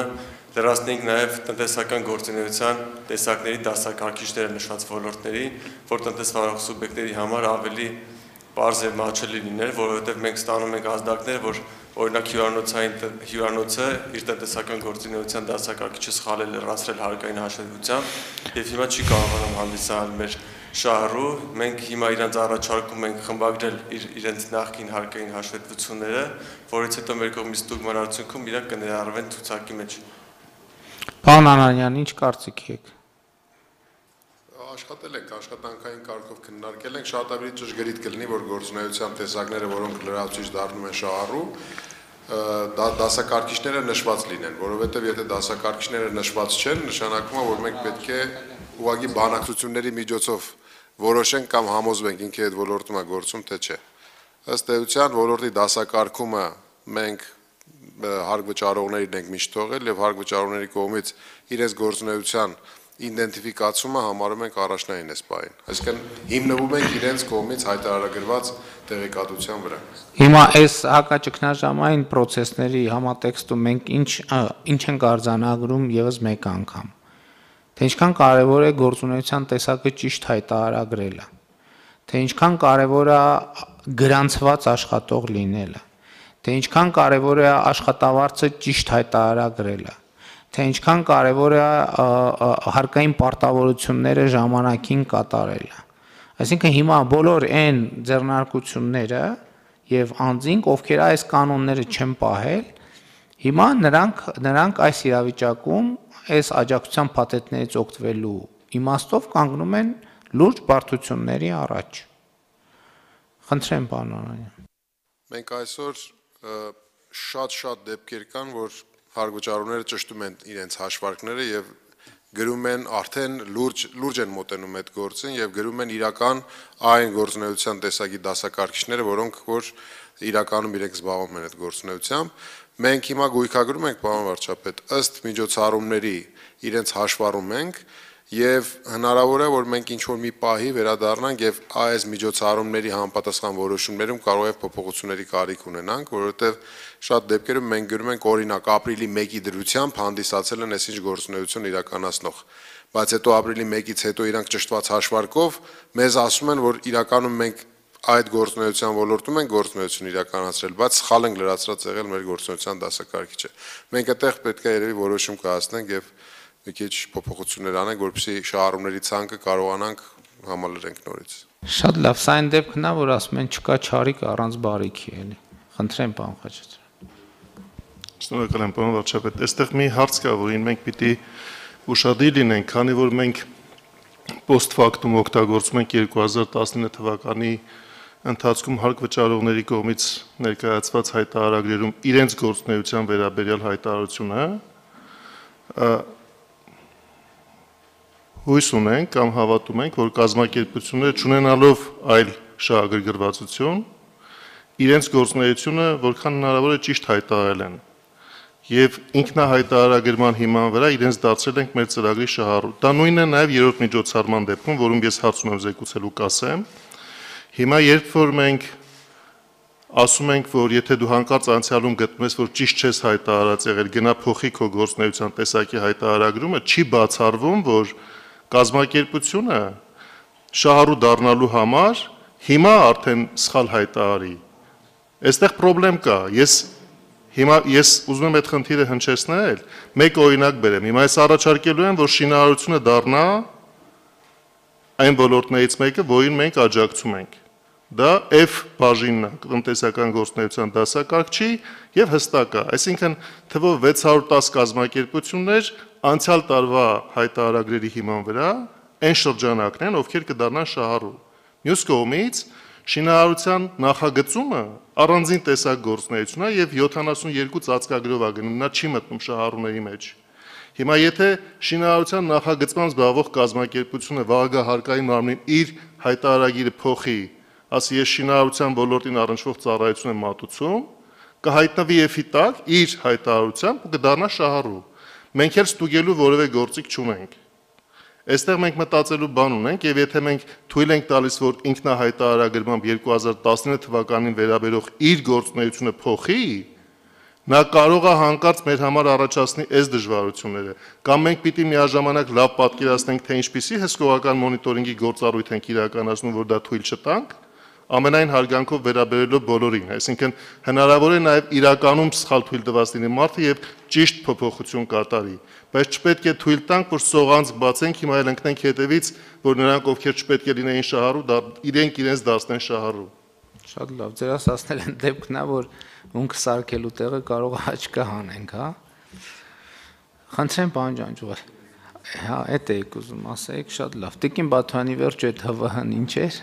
լրացնենք նաև տնտեսական գործունեության տեսակների դասակարգիչները նշված ոլորտների, որ տնտեսվարող սուբյեկտների համար ավելի պարզ եւ մատչելի լիներ, որովհետեւ մենք ստանում ենք ազդակներ, որ օրինակ հյուրանոցը իր տնտեսական գործունեության դասակարգիչը սխալ է լրացրել հարկային հաշվետվությամբ եւ հիմա չի կարողանում հանդիսանալ մեր շահառու, մենք հիմա իրանց առաջարկում ենք խմբագրել իրենց նախկին հարկային հաշվետվությունները, որից հետո մեր կողմից ստուգման արդյունքում իրանք կներառվեն ցուցակի մեջ։ Պարոն Անանյան, ինչ կարծիք եք։ Աշխատել ենք, աշխատանքային կարգով քննարկել ենք, շատ ավելի ճշգրիտ կլինի, որ գործունեության տեսակները, որոնք լրացուցիչ դառնում են շահառու, դասակարգիչները նշված լինեն, որովհետև եթե դասակարգիչները նշված չեն, նշանակում է, որ մենք պետք է ուղղակի բանակցությունների միջոցով որոշենք կամ համոզվենք ինքը այդ ոլորտում է գործում, թե չէ։ Ըստ էության ոլորտի դասակարգումը մենք հարկ վճարողներին ենք միշտ թողել եւ հարկ վճարողների կողմից իրենց գործունեության իդենտիֆիկացումը համարում ենք առաջնային այս պահին։ Այսինքն հիմնվում ենք իրենց կողմից հայտարարագրված տեղեկատվության վրա։ Հիմա այս հակաճգնաժամային process-ների համատեքստում մենք ինչ ենք արձանագրում եւս մեկ անգամ։ Թե ինչքան կարևոր է գործունեության տեսակը ճիշտ հայտարարագրելը, թե ինչքան կարևոր է գրանցված աշխատող լինելը, թե ինչքան կարևոր է աշխատավարձը ճիշտ հայտարարագրելը, թե ինչքան կարևոր է հարկային պարտավորությունները ժամանակին կատարելը։ Այսինքն հիմա բոլոր այն ձեռնարկությունները եւ անձինք, ովքեր այս կանոնները չեն պահել, հիմա նրանք այս իրավիճակում այս աջակցության փաթեթներից օգտվելու իմաստով կանգնում են լուրջ բարդությունների առաջ։ Խնդրեմ, պարոն Անանյան։ Մենք այսօր շատ դեպքեր կան, որ հարկվճարողները ճշտում են իրենց հաշվարկները եւ գրում են արդեն լուրջ են մոտենում այդ գործին եւ գրում են իրական այն գործունեության տեսակի դասակարգիչները, որոնք որ իրականում իրենք զբաղվում են այդ գործունեությամբ։ Մենք հիմա գույքագրում ենք, պարոն վարչապետ, ըստ միջոցառումների իրենց հաշվառում ենք եւ հնարավոր է, որ մենք ինչ-որ մի պահի վերադառնանք եւ այս միջոցառումների համապատասխան որոշումներում կարող է փոփոխությունների կարիք ունենանք, որովհետեւ շատ դեպքերում մենք գրում ենք օրինակ ապրիլի 1-ի դրությամբ հանդիսացել են այսինչ գործունեություն իրականացնող, բայց հետո ապրիլի 1-ից հետո իրանք ճշտված հաշվարկով մեզ ասում են, որ իրականում մենք այդ գործունեության ոլորտում են գործունեություն իրականացրել, բայց սխալ ենք լրացրած եղել մեր գործունեության դասակարգիչը։ Մենք այդտեղ պետք է երևի որոշում կհասնենք եւ մի քիչ փոփոխություններ անենք, որպեսզի շահառուների ցանկը կարողանանք համալրենք նորից։ Շատ լավ, սա այն դեպքն է, որ ասում են չկա չարիք առանց բարիքի, էլի։ Խնդրեմ, պարոն Խաչատրյան։ Շնորհակալ եմ, պարոն վարչապետ։ Այստեղ մի հարց կա, որին մենք պիտի ուշադիր լինենք, քանի որ մենք post factum օգտագործում ենք 2019 թվականի ընթացքում հարկ վճարողների կողմից ներկայացված հայտարարագրերում իրենց գործունեության վերաբերյալ հայտարարությունը հույս ունենք կամ հավատում ենք, որ կազմակերպությունները չունենալով այլ շահագրգռվածություն իրենց գործունեությունը որքան հնարավոր է ճիշտ հայտարարել են եւ ինքնահայտարարագրման հիման վրա իրենց դարձրել ենք մեր ծրագրի շահառու։ Դա նույնն է նաեւ երրորդ միջոցառման դեպքում, որում ես հարց ունեմ զեկուցելու կասեմ։ Հիմա երբ որ մենք ասում ենք, որ եթե դու հանկարծ անցյալում գտնում ես, որ ճիշտ չես հայտարարած եղել, գնա փոխի քո գործունեության տեսակի հայտարարագրումը, չի բացառվում, որ կազմակերպությունը շահառու դառնալու համար հիմա արդեն սխալ հայտարարի։ Այստեղ խնդրեմ կա։ Ես ուզում եմ այդ խնդիրը հնչեցնել, մեկ օրինակ բերեմ։ Հիմա ես առաջարկելու եմ, որ շինարարությունը դառնա այն ոլորտներից մեկը, որին մենք աջակցում ենք։ Դա F բաժինն է, տնտեսական գործունեության դասակարգչի եւ հստակ է, այսինքն թվով 610 կազմակերպություններ անցյալ տարվա հայտարարագրերի հիման վրա այն շրջանակն են, ովքեր կդառնան շահառու։ Մյուս կողմից շինարարության նախագծումը առանձին տեսակ գործունեություն է եւ 72 ծածկագրով է գնում, նա չի մտնում շահառուների մեջ։ Հիմա եթե շինարարության նախագծման զբաղվող կազմակերպությունը վաղագահ հարկային մարմնին իր հայտարարագիրը փոխի, ասի ես շինարարության ոլորտին առնչվող ծառայություն եմ մատուցում, կհայտնվի էֆի տակ իր հայտարարությամբ ու կդառնա շահառու։ Մենք էլ ստուգելու որևէ գործիք չունենք։ Այստեղ մենք մտածելու բան ունենք, եւ եթե մենք թույլ ենք տալիս, որ ինքնահայտարարագրմամբ 2019 թվականին վերաբերող իր գործունեությունը փոխի, նա կարող է հանկարծ մեր համար առաջացնի այս դժվարությունները, կամ մենք պիտի միաժամանակ լավ պատկերացնենք, թե ինչպիսի հսկողական մոնիտորինգի գործառույթ ենք իրականացնում, որ դա թույլ չտանք, ամենայն հարգանքով վերաբերելով բոլորին, այսինքն հնարավոր է նաև իրականում սխալ թույլ տված լինի մարդը եւ ճիշտ փոփոխություն կատարի, բայց չպետք է թույլ տանք, որ սողանց բացենք, հիմա էլ ընկնենք հետևից, որ նրանք ովքեր չպետք է լինեին շահառու, իրենք իրենց դարձնեն շահառու։ Շատ լավ, ձեր ասացնել են դեպքն է, որ ունքը սարքելու տեղը կարող է աչքը հանենք, հա։ Խնդրեմ, պարոն Ջանջուղար։ Հա, այդ եք ուզում ասեք, շատ լավ։ Տիկին Բաթյանի վերջ այդ ՀՎՀ-ն ինչ էր։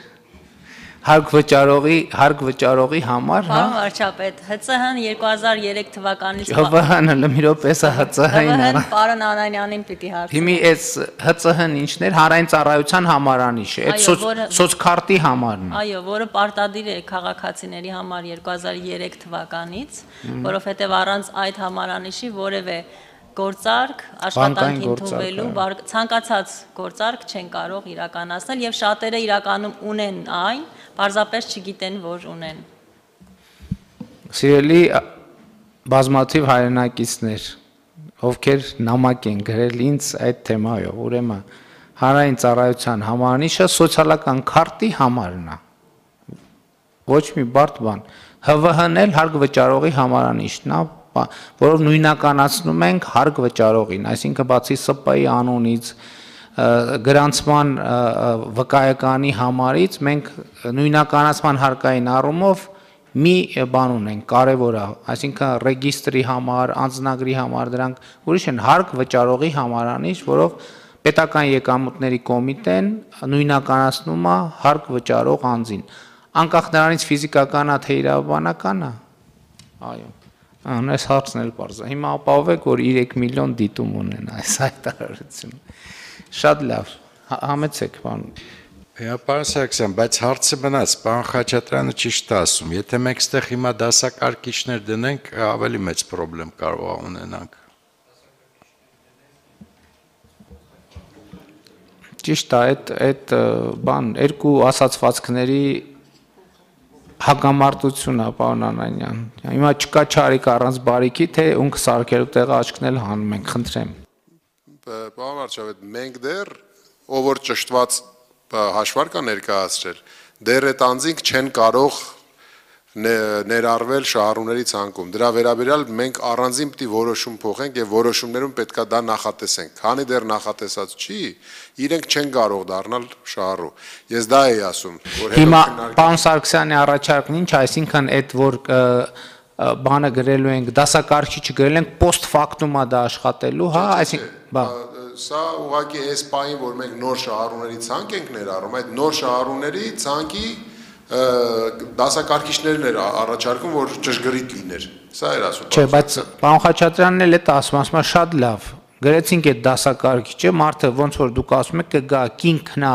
Հարկ վճարողի համար, հա։ Պարոն վարչապետ, ՀՑՀ-ն 2003 թվականից ՀՎՀ-ն էլ մի րոպե սա ՀՑՀ-ին է։ Պարոն Անանյանին պիտի հարցնեմ։ Հիմի այս ՀՑՀ-ն ինչն էր, հանրային ծառայության համարանիշ է, այդ սոցքարտի համարն է։ Այո, որը պարտադիր է քաղաքացիների համար 2003 թվականից, որովհետև առանց այդ համարանիշի որևէ գործարք աշխատանք ընդունվելու ցանկացած գործարք չեն կարող իրականացնել եւ շատերը իրականում ունեն այն, պարզապես չգիտեն, որ ունեն։ Սիրելի բազմաթիվ հայրենակիցներ, ովքեր նամակ են գրել ինձ այդ թեմայով, ուրեմն հանրային ծառայության համարանիշը սոցիալական քարտի համարն է։ Ոչ մի բարդ բան։ ՀՎՀ-ն էլ հարկ վճարողի համարանիշն է, որով նույնականացնում ենք հարկ վճարողին, այսինքն բացի ՍՊ-ի անունից, գրանցման վկայականի համարից մենք նույնականացման հարկային առումով մի բան ունենք, կարևոր է, այսինքն ռեգիստրի համար, անձնագրի համար, դրանք ուրիշ են հարկ վճարողի համարանիշ, որով պետական եկամուտների կոմիտեն նույնականացնում է հարկ վճարող անձին։ Անկախ նրանից ֆիզիկական է թե իրավաբանական է։ Այո։ Այս հարցն էլ պարզ է։ Հիմա ապահովեք, որ 3 միլիոն դիտում ունենա այս հայտարարությունը։ Շատ լավ, համեցեք, պարոն։ Պարոն Սարգսյան, բայց հարցը մնաց, պարոն Խաչատրյանը ճիշտ է ասում, եթե մենք այստեղ հիմա դասակարգիչներ դնենք, ավելի մեծ խնդրեմ կարող է ունենանք։ Ճիշտ է, այդ բան երկու ասացվածքների հակամարտություն է, պարոն Անանյան։ Հիմա չկա չարիք առանց բարիքի, թե ունքը սարքելու տեղը աչքն էլ հանում ենք, խնդրեմ։ Պարոն վարչապետ, մենք դեռ ով որ ճշտված հաշվարկ է ներկայացրել, դեռ այդ անձինք չեն կարող ներառվել շահառուների ցանկում։ Դրա վերաբերյալ մենք առանձին պիտի որոշում փոխենք եւ որոշումներում պետքա դա նախատեսենք։ Քանի դեռ նախատեսած չի, իրենք չեն կարող դառնալ շահառու։ Ես դա էի ասում, որ Հիմա պարոն Սարգսյանի առաջարկն ինչ, այսինքն այդ որ բանը գրելու ենք, դասակարգիչը գրել ենք post factum-ա դա աշխատելու, հա, այսինքն սա ուղղակի այս պահին, որ մենք նոր շահառուների ցանկ ենք ներառում, այդ նոր շահառուների ցանկի դասակարգիչներն էր առաջարկում, որ ճշգրիտ լիներ։ Սա էր ասում։ Չէ, բայց պարոն Խաչատրյանն էլ է ասում շատ լավ։ Գրեցինք այդ դասակարգիչը, մարդը ոնց որ դուք ասում եք կգա կինքնա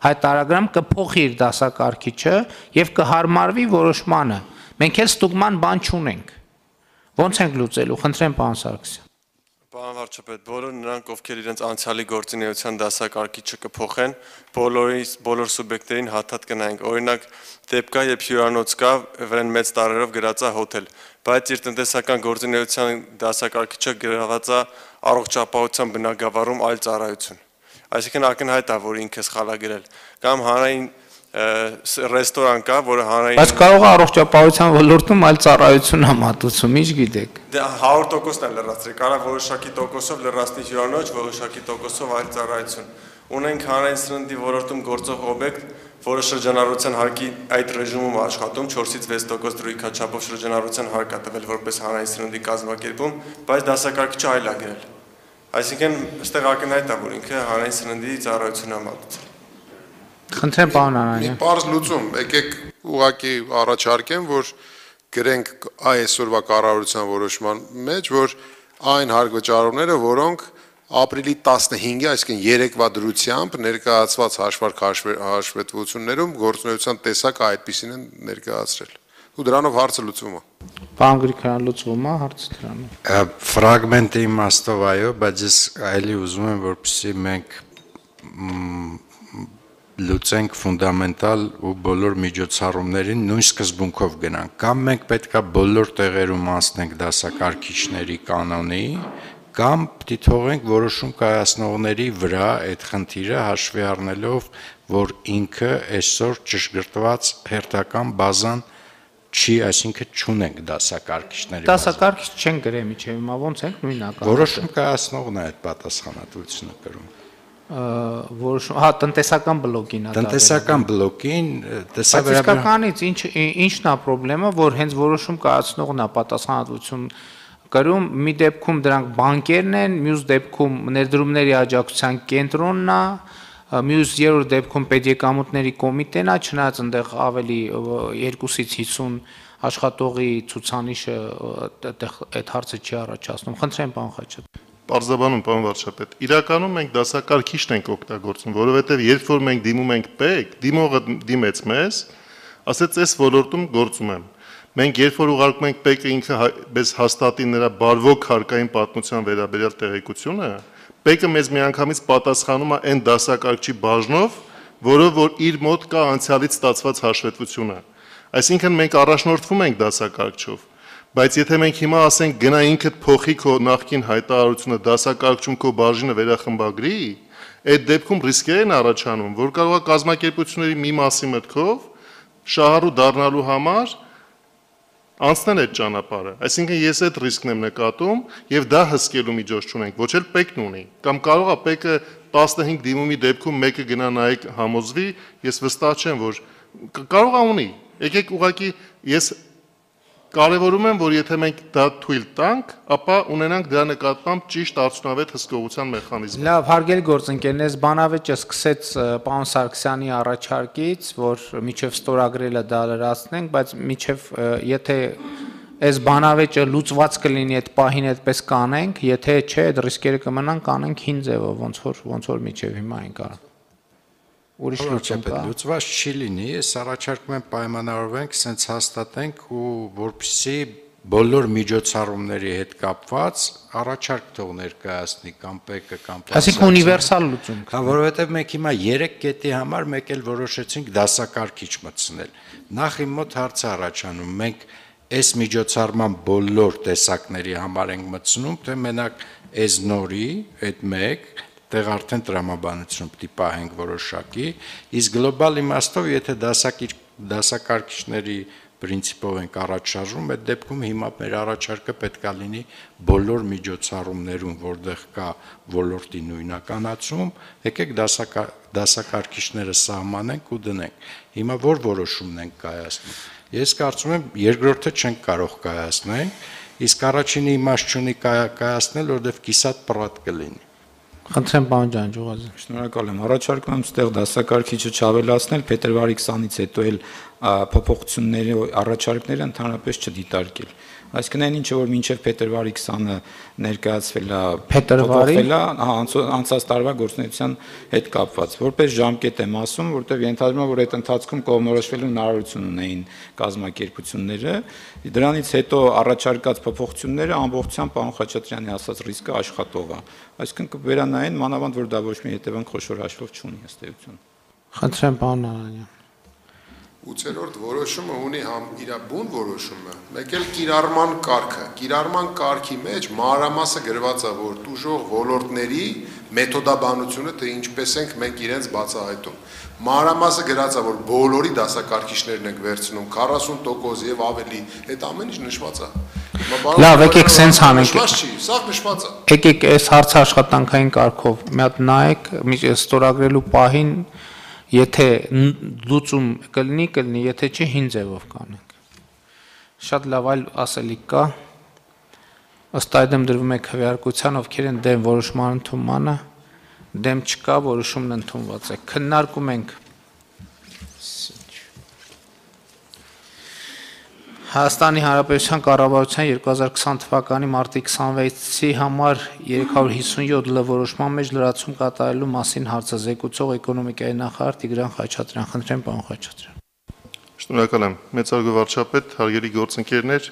հայտարարագրամ կփոխի իր դասակարգիչը եւ կհարմարվի որոշմանը։ Մենք էլ ստուգման բան չունենք։ Ոնց ենք լուծելու, խնդրեմ պարոն Սարգսյան։ Պարոն վարչապետ, բոլոր նրանք, ովքեր իրենց անցյալի գործունեության դասակարգիչը կփոխեն, բոլոր սուբյեկտներին հաթաթ կնայենք։ Օրինակ, դեպք կա, երբ հյուրանոց կա, վրան մեծ տարերով գրած է հոթել, բայց իր տնտեսական գործունեության դասակարգիչը գրված է առողջապահության բնագավառում այլ ծառայություն։ Այսինքն ակնհայտ է, որ ինքը սխալ է գրել։ Կամ հանրային ռեստորան կա, որը հանրային Բայց կարող է առողջապահության ոլորտում այլ ծառայություն համատուցում, ինչ գիտեք։ Դե 100%-ն է լրացրել, կարա որոշակի տոկոսով լրացնի հյուրանոց, որոշակի տոկոսով այլ ծառայություն։ Ունենք հանրային սննդի ոլորտում գործող օբյեկտ, որը շրջանառության հարկի այդ ռեժիմում աշխատում 4-ից 6% դրույքաչափով շրջանառության հարկ է տվել որպես հանրային սննդի կազմակերպում, բայց դասակարգիչը այլ է գրել։ Այսինքն, այստեղ ակնհայտ է, որ ինքը հանրային սննդի ծառայություն է մատուցել։ Խնդրեմ պարոն Անանյան։ Մի պարզ լուծում, եկեք ուղղակի առաջարկեմ, որ գրենք այսօրվա կառավարության որոշման մեջ, որ այն հարկ վճարողները, որոնք ապրիլի 15-ի, այսինքն երեկվա դրությամբ ներկայացված հաշվարկ հաշվետվություններում գործունեության տեսակը այդպիսին են ներկայացրել։ Ու դրանով հարցը լուծվում է։ Պարոն Գրիգորյան, լուծվում է հարցը դրանով։ Ֆրագմենտի իմաստով այո, բայց ես այլի ուզում եմ, որպեսզի մենք լուծենք ֆունդամենտալ ու բոլոր միջոցառումներին նույն սկզբունքով գնանք։ Կամ մենք պետքա բոլոր տեղերում անցնենք դասակարգիչների կանոնի, կամ պիտի թողենք որոշում կայացնողների վրա այդ խնդիրը հաշվի առնելով, որ ինքը այսօր ճշգրտված հերթական բազան չի, այսինքն չունենք դասակարգիչների։ Դասակարգիչ չեն գրել միջև հիմա ոնց ենք նույնական։ Որոշում կայացնողն է այդ պատասխանատվությունը կրում։ Որոշում, տնտեսական բլոկին է։ Տնտեսական բլոկին Իսկականից ինչն է խնդրեմը, որ հենց որոշում կայացնողն է պատասխանատվություն կրում, մի դեպքում դրանք բանկերն են, մյուս դեպքում ներդրումների աջակցության կենտրոնն է, մյուս երրորդ դեպքում պետեկամուտների կոմիտեն է, չնայած այնտեղ ավելի 2-ից 50 աշխատողի ցուցանիշը այդ հարցը չի առաջացնում։ Խնդրեմ, պարոն Խաչատրյան։ Պարզաբանում, պարոն վարչապետ, իրականում մենք դասակարգիչն ենք օգտագործում, որովհետև երբ որ մենք դիմում ենք ՊԵԿ, դիմողը դիմեց մեզ, ասեց այս ոլորտում գործում եմ։ Մենք երբ որ ուղարկում ենք ՊԵԿ-ը ինքը մեզ հաստատի նրա բարվոք հարկային պատմության վերաբերյալ տեղեկությունը, ՊԵԿ-ը մեզ միանգամից պատասխանում է այն դասակարգչի բաժնով, որով որ իր մոտ կա անցյալից ստացված հաշվետվությունը։ Այսինքն մենք առաջնորդվում ենք դասակարգչով, բայց եթե մենք հիմա ասենք գնա ինքդ փոխի քո նախկին հայտարարությունը դասակարգչում քո բաժինը վերախմբագրի, այդ դեպքում ռիսկեր են առաջանում, որ կարող է կազմակերպությունների մի մասի մտքով շահառու դառնալու համար անցնել այդ ճանապարհը։ Այսինքն ես այդ ռիսկն եմ նկատում եւ դա հսկելու միջոց չունենք, ոչ էլ ՊԵԿ-ն ունի։ Կամ կարող է ՊԵԿ-ը 15 դիմումի դեպքում մեկը գնա նայեք համոզվի, ես վստահ չեմ, որ կարող է ունի։ Եկեք ուղղակի ես կարևորում եմ, որ եթե մենք դա թույլ տանք, ապա ունենանք դրա նկատմամբ ճիշտ արդյունավետ հսկողության մեխանիզմ։ Լավ, հարգելի գործընկերներ, բանավեճը սկսեց պարոն Սարգսյանի առաջարկից, որ միջև ստորագրելը դա լրացնենք, բայց միջև եթե այս բանավեճը լուծված կլինի այդ պահին այդպես կանենք, եթե չէ, այդ ռիսկերը կմնան կանենք հին ձևով, ոնց որ միջև հիմա ենք արում։ Ուրիշ լուծում կա։ Լուծված չի լինի, ես առաջարկում եմ պայմանավորվենք, սենց հաստատենք ու որպեսզի բոլոր միջոցառումների հետ կապված առաջարկ թող ներկայացնի կամ ՊԵԿ-ը կամ Այսինքն ունիվերսալ լուծում։ Հա, որովհետև մենք հիմա 3 կետի համար մեկ էլ որոշեցինք դասակարգիչ մտցնել։ Նախ իմ մոտ հարց է առաջանում, մենք այս միջոցառման բոլոր տեսակների համար ենք մտցնում, թե մենակ այս նորի, այդ մեկ տեղ արդեն տրամաբանություն պիտի պահենք որոշակի, իսկ գլոբալ իմաստով, եթե դասակարգիչների պրինցիպով ենք առաջ շարժում, այդ դեպքում հիմա մեր առաջարկը պետքա լինի բոլոր միջոցառումներում, որտեղ կա ոլորտի նույնականացում, եկեք դասակարգիչները սահմանենք ու դնենք։ Հիմա որ որոշումն ենք կայացնում։ Ես կարծում եմ երկրորդը չենք կարող կայացնել, իսկ առաջինը իմաստ չունի կայացնել, որովհետև կիսատ պռատ կլինի։ Խնդրեմ, պարոն Ջանջուղազյան։ Շնորհակալ եմ։ Առաջարկում եմ ստեղ դասակարգիչը չավելացնել, փետրվարի 20-ից հետո էլ փոփոխությունների առաջարկները ընդհանրապես չդիտարկել։ Այսինքն այն ինչը որ մինչև փետրվարի 20-ը ներկայացվել է, փոփոխվել է, անցած տարվա գործունեության հետ կապված։ Որպես ժամկետ եմ ասում, որտեղ ենթադրում եմ, որ այդ ընթացքում կողմնորոշվելու հնարավորություն ունեին կազմակերպությունները, դրանից հետո առաջարկած փոփոխությունները ամբողջությամբ պարոն Խաչատրյանի ասած ռիսկը աշխատող է։ Այսինքն կվերանային մանավանդ որ դա ոչ մի հետևանք խոշոր հաշվով չունի ըստ էության։ Խնդրեմ, պարոն Նալանյան։ 8-րդ որոշումը ունի համ իր բուն որոշումը, մեկ էլ կիրառման կարգը։ Կիրառման կարգի մեջ մանրամասը գրված է, որ տուժող ոլորտների մեթոդաբանությունը թե ինչպես ենք մենք իրենց բացահայտում։ Մանրամասը գրած է, որ բոլորի դասակարգիչներն ենք վերցնում 40% եւ ավելի, այդ ամեն ինչ նշված է։ Լավ, եկեք սենց անենք։ Նշված չի, սա նշված է։ Եկեք այս հարցը աշխատանքային կարգով մի հատ նայեք, ստորագրելու պահին եթե լուծում կլինի, եթե չի հին ձևով կանենք։ Շատ լավ այլ ասելիք կա։ Ըստ այդմ դրվում է քվեարկության, ովքեր են դեմ որոշման ընդունմանը, դեմ չկա, որոշումն ընդունված է։ Քննարկում ենք։ Հայաստանի Հանրապետության կառավարության 2020 թվականի մարտի 26-ի համար 357 լրորոշման մեջ լրացում կատարելու մասին հարցազեկուցող էկոնոմիկայի նախարար Տիգրան Խաչատրյան։ Խնդրեմ, պարոն Խաչատրյան։ Շնորհակալ եմ, մեծարգո վարչապետ, հարգելի գործընկերներ,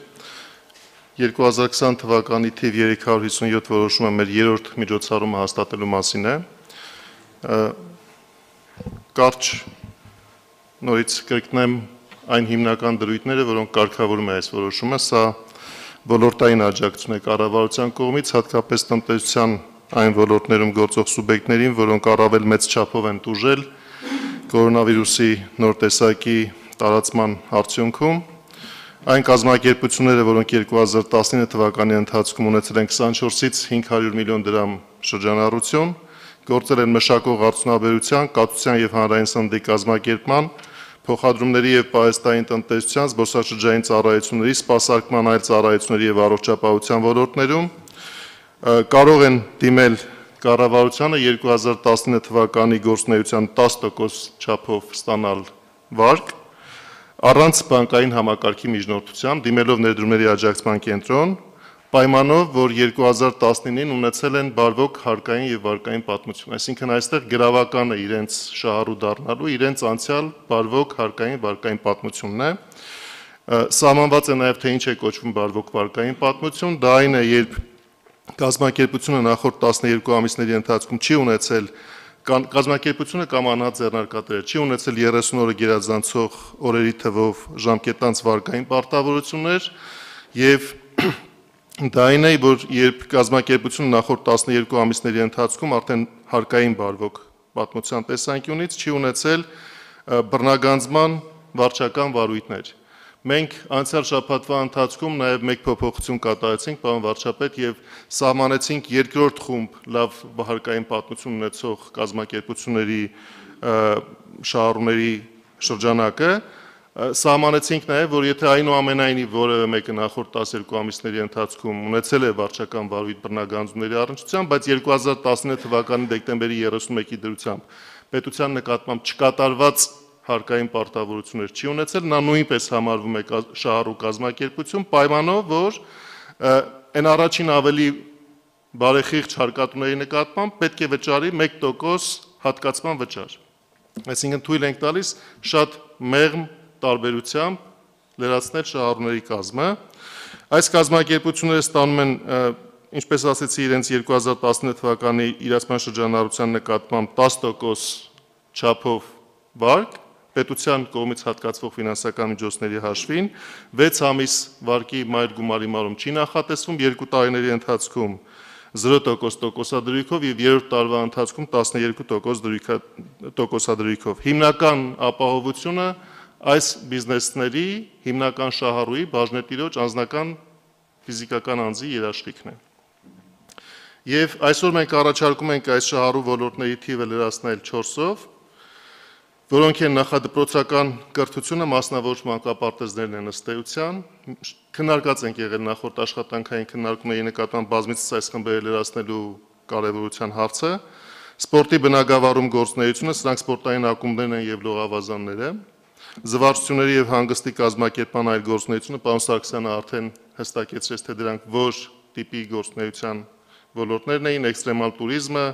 2020 թվականի թիվ 357 որոշումը մեր երրորդ միջոցառումը հաստատելու մասին է։ Կարճ նորից կրկնեմ այն հիմնական դրույթները, որոնք կարգավորում է այս որոշումը, սա ոլորտային աջակցություն է կառավարության կողմից, հատկապես տնտեսության այն ոլորտներում գործող սուբյեկտներին, որոնք առավել մեծ չափով են տուժել կորոնավիրուսի նոր տեսակի տարածման արդյունքում։ Այն կազմակերպությունները, որոնք 2019 թվականի ընթացքում ունեցել են 24-ից 500 միլիոն դրամ շրջանառություն, գործել են մշակող արդյունաբերության, կաթության եւ հանրային սննդի կազմակերպման, փոխադրումների եւ պահեստային տնտեսության, զբոսաշրջային ծառայությունների, սպասարկման այլ ծառայությունների եւ առողջապահության ոլորտներում կարող են դիմել կառավարությանը 2019 թվականի գործունեության 10% չափով ստանալ վարկ առանց բանկային համակարգի միջնորդության, դիմելով ներդրումների աջակցման կենտրոն, պայմանով, որ 2019-ին ունեցել են բարվոք հարկային եւ վարկային պատմություն, այսինքն այստեղ գրավական է իրենց շահառու դառնալու, իրենց անցյալ բարվոք հարկային վարկային պատմությունն է։ Սահմանված է նաեւ թե ինչ է կոչվում բարվոք վարկային պատմություն, դա այն է, երբ կազմակերպությունը նախորդ 12 ամիսների ընթացքում չի ունեցել կազմակերպությունը կամ անհատձեռնարկատերը չի ունեցել 30 օրը գերազանցող օրերի թվով ժամկետանց վարկային պարտավորություններ եւ դա այն է, որ երբ կազմակերպությունը նախորդ 12 ամիսների ընթացքում արդեն հարկային բարվոք պատմության տեսանկյունից չի ունեցել բռնագանձման վարչական վարույթներ։ Մենք անցյալ շաբաթվա ընթացքում նաև մեկ փոփոխություն կատարեցինք, պարոն վարչապետ, եւ սահմանեցինք երկրորդ խումբ լավ հարկային պատմություն ունեցող կազմակերպությունների շահառուների շրջանակը, սահմանեցինք նաև, որ եթե այնուամենայնիվ որևէ մեկը նախորդ 12 ամիսների ընթացքում ունեցել է վարչական վարույթ բռնագանձումների առնչությամբ, բայց 2019 թվականի դեկտեմբերի 31-ի դրությամբ պետության նկատմամբ չկատարված հարկային պարտավորություններ չի ունեցել, նա նույնպես համարվում է շահառու կազմակերպություն, պայմանով, որ այն առաջին ավելի բարեխիղճ հարկատուների նկատմամբ պետք է վճարի 1% հատկացման վճար։ Այսինքն թույլ ենք տալիս շատ մեղմ տարբերությամբ լրացնել շահառուների կազմը։ Այս կազմակերպությունները ստանում են, ինչպես ասեցի, իրենց 2019 թվականի իրացման շրջանառության նկատմամբ 10% չափով վարկ պետության կողմից հատկացվող ֆինանսական միջոցների հաշվին, 6 ամիս վարկի մայր գումարի մարում չի նախատեսվում, 2 տարիների ընթացքում 0% տոկոսադրույքով եւ երրորդ տարվա ընթացքում 12% տոկոսադրույքով։ Հիմնական ապահովությունը այս բիզնեսների հիմնական շահառուի բաժնետիրոջ անձնական ֆիզիկական անձի երաշխիքն է։ Եվ այսօր մենք առաջարկում ենք այս շահառու ոլորտների թիվը լրացնել 4-ով, որոնք են նախադպրոցական կրթությունը, մասնավոր մանկապարտեզներն են ըստ էության, քննարկած ենք եղել նախորդ աշխատանքային քննարկումների նկատմամբ բազմիցս այս խմբերը լրացնելու կարևորության հարցը, սպորտի բնագավառում գործունեությունը, սրանք սպորտային ակումբներն են եւ լողավազանները, զվարճությունների եւ հանգստի կազմակերպման այլ գործունեությունը, պարոն Սարգսյանը արդեն հստակեցրեց, թե դրանք որ տիպի գործունեության ոլորտներն էին, էքստրեմալ տուրիզմը,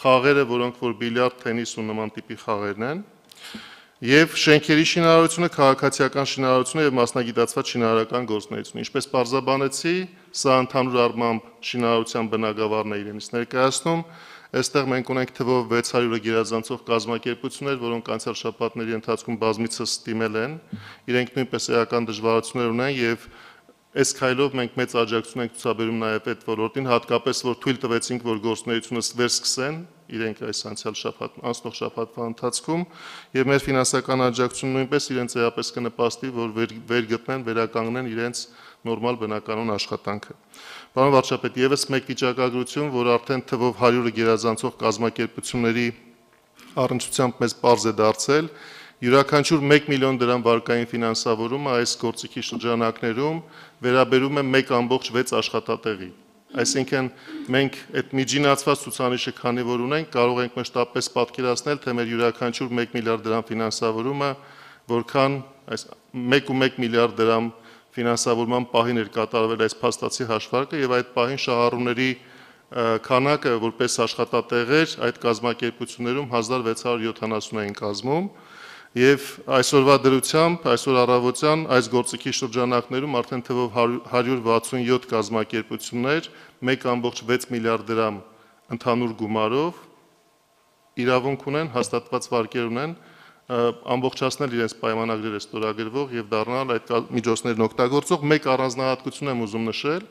խաղերը, որոնք որ բիլիարդ, թենիս ու նման տիպի խաղերն են, եւ շենքերի շինարարությունը, քաղաքացիական շինարարությունը եւ մասնագիտացված շինարարական գործունեությունը։ Ինչպես պարզաբանեցի, սա ընդհանուր առմամբ շինարարության բնագավառն է իրենից ներկայացնում։ Այստեղ մենք ունենք թվով 600-ը գերազանցող կազմակերպություններ, որոնք անցյալ շաբաթների ընթացքում բազմիցս դիմել են, իրենք նույնպես էական դժվարություններ ունեն եւ այս քայլով մենք մեծ աջակցություն ենք ցուցաբերում նաև այդ ոլորտին, հատկապես որ թույլ տվեցինք, որ գործունեությունը վերսկսեն իրենք այս անցնող շաբաթվա ընթացքում եւ մեր ֆինանսական աջակցությունը նույնպես իրենց էապես կնպաստի, որ վերգտնեն, վերականգնեն իրենց նորմալ բնականոն աշխատանքը։ Պարոն վարչապետ, եւս մեկ վիճակագրություն, որ արդեն թվով 100-ը գերազանցող կազմակերպությունների առնչությամբ մեզ պարզ է դարձել, յուրաքանչյուր 1 միլիոն դրամ վարկային ֆինանսավորումը այս գործիքի շրջանակներում վերաբերում է 1.6 աշխատատեղի։ Այսինքն մենք այդ միջինացված ցուցանիշը քանի որ ունենք, կարող ենք մշտապես պատկերացնել, թե մեր յուրաքանչյուր 1 միլիարդ դրամ ֆինանսավորումը որքան այս 1.1 միլիարդ դրամ ֆինանսավորման պահին էր կատարվել այս փաստացի հաշվարկը եւ այդ պահին շահառուների քանակը որպես աշխատատեղեր այդ կազմակերպություններում 1670 էին կազմում եւ այսօրվա դրությամբ այսօր առավոտյան այս գործիքի շրջանակներում արդեն թվով 167 կազմակերպություններ 1.6 միլիարդ դրամ ընդհանուր գումարով իրավունք ունեն հաստատված վարկեր ունեն ամբողջացնել իրենց պայմանագրերը ստորագրվող եւ դառնալ այդ միջոցներն օգտագործող մեկ առանձնահատկություն եմ ուզում նշել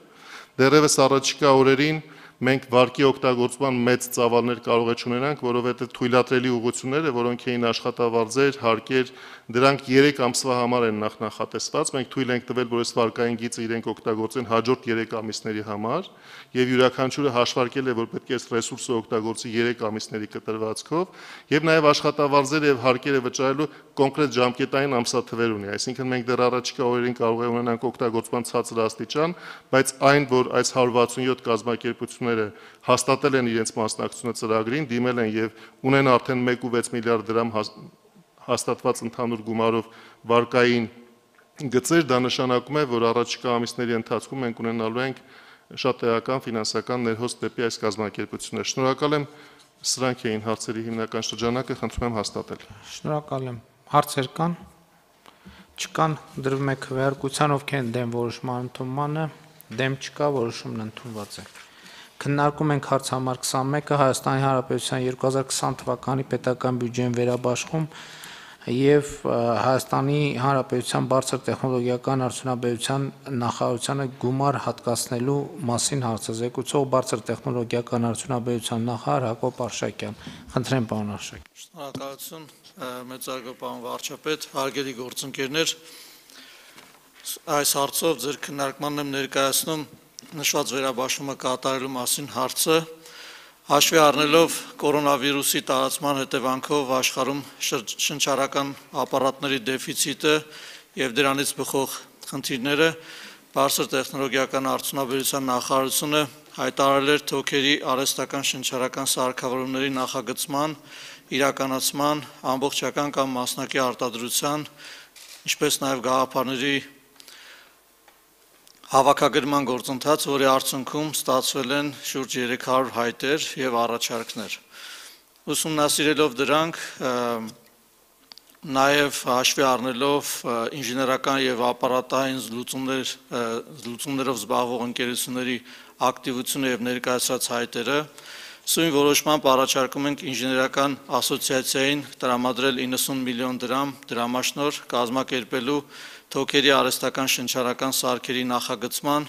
դեռևս առաջիկա օրերին մենք վարկի օգտագործման մեծ ծավալներ կարող է չունենանք, որովհետև թույլատրելի ուղղությունները, որոնք էին աշխատավարձեր, հարկեր, դրանք 3 ամսվա համար են նախնախատեսված, մենք թույլ ենք տվել, որ այս վարկային գիծը իրենք օգտագործեն հաջորդ 3 ամիսների համար, եւ յուրաքանչյուրը հաշվարկել է, որ պետք է այս ռեսուրսը օգտագործի 3 ամիսների կտրվածքով, եւ նաեւ աշխատավարձերը եւ հարկերը վճարելու կոնկրետ ժամկետային ամսաթվեր ունի, այսինքն մենք դեռ առաջիկա օրերին կարող է ունենանք օգտագործման ցածր աստիճան, բայց այն, որ այս 167 կազմակերպությունները հաստատել են իրենց մասնակցությունը ծրագրին, դիմել են եւ ունեն արդեն 1.6 միլիարդ դրամ հաստատված ընդհանուր գումարով վարկային գծեր, դա նշանակում է, որ առաջիկա ամիսների ընթացքում մենք ունենալու ենք շատ էական ֆինանսական ներհոսք դեպի այս կազմակերպություններ։ Շնորհակալ եմ, սրանք էին հարցերի հիմնական շրջանակը, խնդրում եմ հաստատել։ Շնորհակալ եմ։ Հարցեր կան։ Չկան, դրվում է քվեարկության, ովքեր են դեմ որոշման ընդունմանը, դեմ չկա, որոշումն ընդունված է։ Քննարկում ենք հարց համար 21-ը Հայաստանի Հանրապետության 2020 թվականի պետական բյուջեն վերաբաշխում եւ Հայաստանի Հանրապետության բարձր տեխնոլոգիական արդյունաբերության նախարարությանը գումար հատկացնելու մասին հարցազեկուցող բարձր տեխնոլոգիական արդյունաբերության նախարար Հակոբ Արշակյան։ Խնդրեմ, պարոն Արշակյան։ Շնորհակալություն, մեծարգո պարոն վարչապետ, հարգելի գործընկերներ, այս հարցով ձեր քննարկմանն եմ ներկայացնում նշված վերաբաշխումը կատարելու մասին հարցը, հաշվի առնելով կորոնավիրուսի տարածման հետևանքով աշխարհում շնչառական ապարատների դեֆիցիտը եւ դրանից բխող խնդիրները, բարձր տեխնոլոգիական արդյունաբերության նախարարությունը հայտարարել էր թոքերի արհեստական շնչառական սարքավորումների նախագծման, իրականացման, ամբողջական կամ մասնակի արտադրության, ինչպես նաեւ գաղափարների հավաքագրման գործընթաց, որի արդյունքում ստացվել են շուրջ 300 հայտեր եւ առաջարկներ։ Ուսումնասիրելով դրանք, նաեւ հաշվի առնելով ինժեներական եւ ապարատային զլուծումներով զբաղվող ընկերությունների ակտիվությունը եւ ներկայացած հայտերը, սույն որոշմամբ առաջարկում ենք ինժեներական ասոցիացիային տրամադրել 90 միլիոն դրամ դրամաշնոր կազմակերպելու թոքերի արհեստական շնչառական սարքերի նախագծման,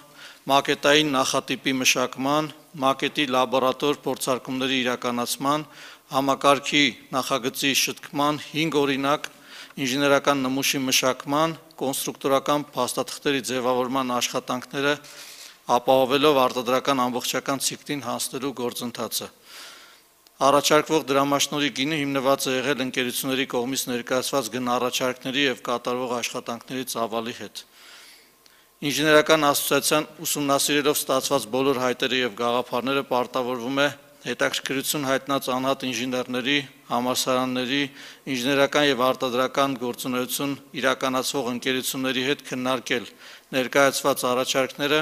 մակետային նախատիպի մշակման, մակետի լաբորատոր փորձարկումների իրականացման, համակարգի նախագծի շտկման 5 օրինակ, ինժեներական նմուշի մշակման, կոնստրուկտորական փաստաթղթերի ձևավորման աշխատանքները ապահովելով արտադրական ամբողջական ցիկլին հասնելու գործընթացը։ Առաջարկվող դրամաշնորհի գինը հիմնված է եղել ընկերությունների կողմից ներկայացված գնահառաջարկների եւ կատարվող աշխատանքների ծավալի հետ։ Ինժեներական ասոցիացիան ուսումնասիրելով ստացված բոլոր հայտերը եւ գաղափարները պարտավորվում է հետաքրքրություն հայտնած անհատ ինժեներների, համալսարանների, ինժեներական եւ արտադրական գործունեություն իրականացվող ընկերությունների հետ քննարկել ներկայացված առաջարկները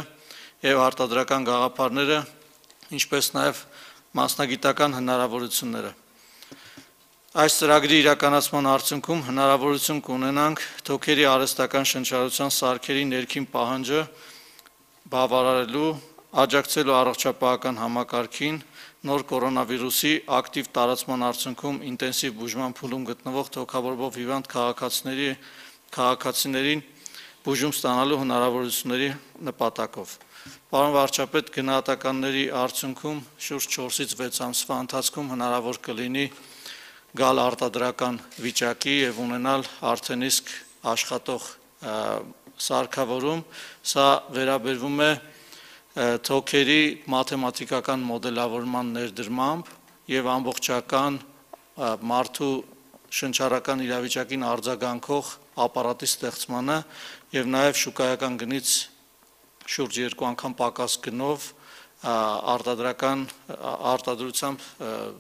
եւ արտադրական գաղափարները, ինչպես նաեւ մասնագիտական հնարավորությունները։ Այս ծրագրի իրականացման արդյունքում հնարավորություն կունենանք թոքերի արհեստական շնչառության սարքերի ներքին պահանջը բավարարելու, աջակցելու առողջապահական համակարգին, նոր կորոնավիրուսի ակտիվ տարածման արդյունքում ինտենսիվ բուժման փուլում գտնվող թոքաբորբով հիվանդ քաղաքացիներին բուժում ստանալու հնարավորությունների նպատակով։ Պարոն վարչապետ, գնահատականների արդյունքում շուրջ 4-ից 6 ամսվա ընթացքում հնարավոր կլինի գալ արտադրական վիճակի եւ ունենալ արդեն իսկ աշխատող սարքավորում, սա վերաբերվում է թոքերի մաթեմատիկական մոդելավորման ներդրմամբ եւ ամբողջական մարդու շնչառական իրավիճակին արձագանքող ապարատի ստեղծմանը եւ նաեւ շուկայական գնից շուրջ 2 անգամ պակաս գնով արտադրությամբ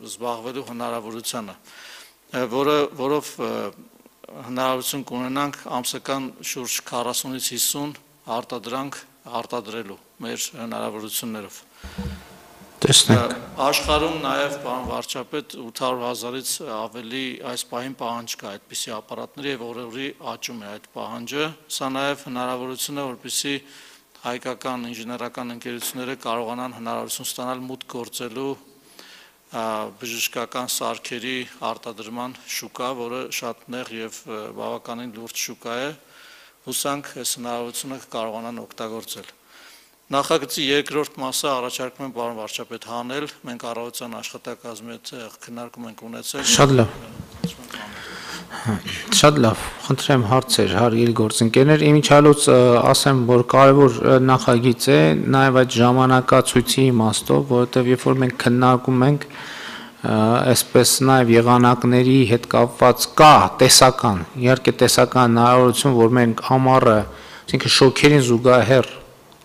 զբաղվելու հնարավորությանը, որով հնարավորություն կունենանք ամսական շուրջ 40-ից 50 արտադրանք արտադրելու մեր հնարավորություններով։ Տեսնենք։ Աշխարհում նաև պարոն վարչապետ 800,000-ից ավելի այս պահին պահանջ կա այդպիսի ապարատների եւ օրերի աճում է այդ պահանջը։ Սա նաև հնարավորություն է, որպեսզի հայկական ինժեներական ընկերությունները կարողանան հնարավորություն ստանալ մուտք գործելու բժշկական սարքերի արտադրման շուկա, որը շատ նեղ եւ բավականին լուրջ շուկա է։ Հուսանք այս հնարավորությունը կարողանան օգտագործել։ Նախագծի երկրորդ մասը առաջարկում եմ պարոն վարչապետ հանել, մենք առավոտյան աշխատակազմի հետ քննարկում ենք ունեցել։ Շատ լավ։ Շատ լավ, խնդրեմ հարցեր, հարգելի գործընկերներ, իմիջիալոց ասեմ, որ կարևոր նախագիծ է, նաև այդ ժամանակացույցի իմաստով, որովհետև երբ որ մենք քննարկում ենք, այսպես նաև եղանակների հետ կապված կա տեսական, իհարկե տեսական հնարավորություն, որ մենք ամառը, այսինքն շոկերին զուգահեռ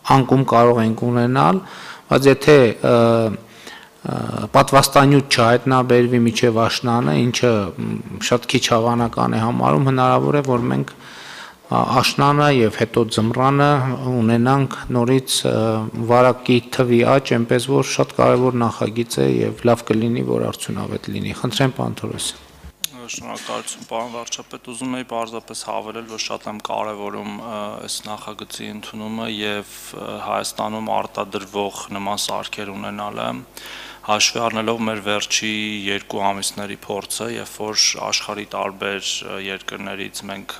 անկում կարող ենք ունենալ, բայց եթե պատվաստանյութ չհայտնաբերվի միջև աշնանը, ինչը շատ քիչ հավանական է համարում, հնարավոր է, որ մենք աշնանը եւ հետո ձմռանը ունենանք նորից վարակի թվի աճ, այնպես որ շատ կարեւոր նախագիծ է եւ լավ կլինի, որ արդյունավետ լինի։ Խնդրեմ, պարոն Թորոսյան։ Շնորհակալություն, պարոն վարչապետ, ուզում եի պարզապես հավելել, որ շատ եմ կարևորում այս նախագծի ընդունումը եւ Հայաստանում արտադրվող նման սարքեր ունենալը, հաշվի առնելով մեր վերջի 2 ամիսների փորձը, երբ որ աշխարհի տարբեր երկրներից մենք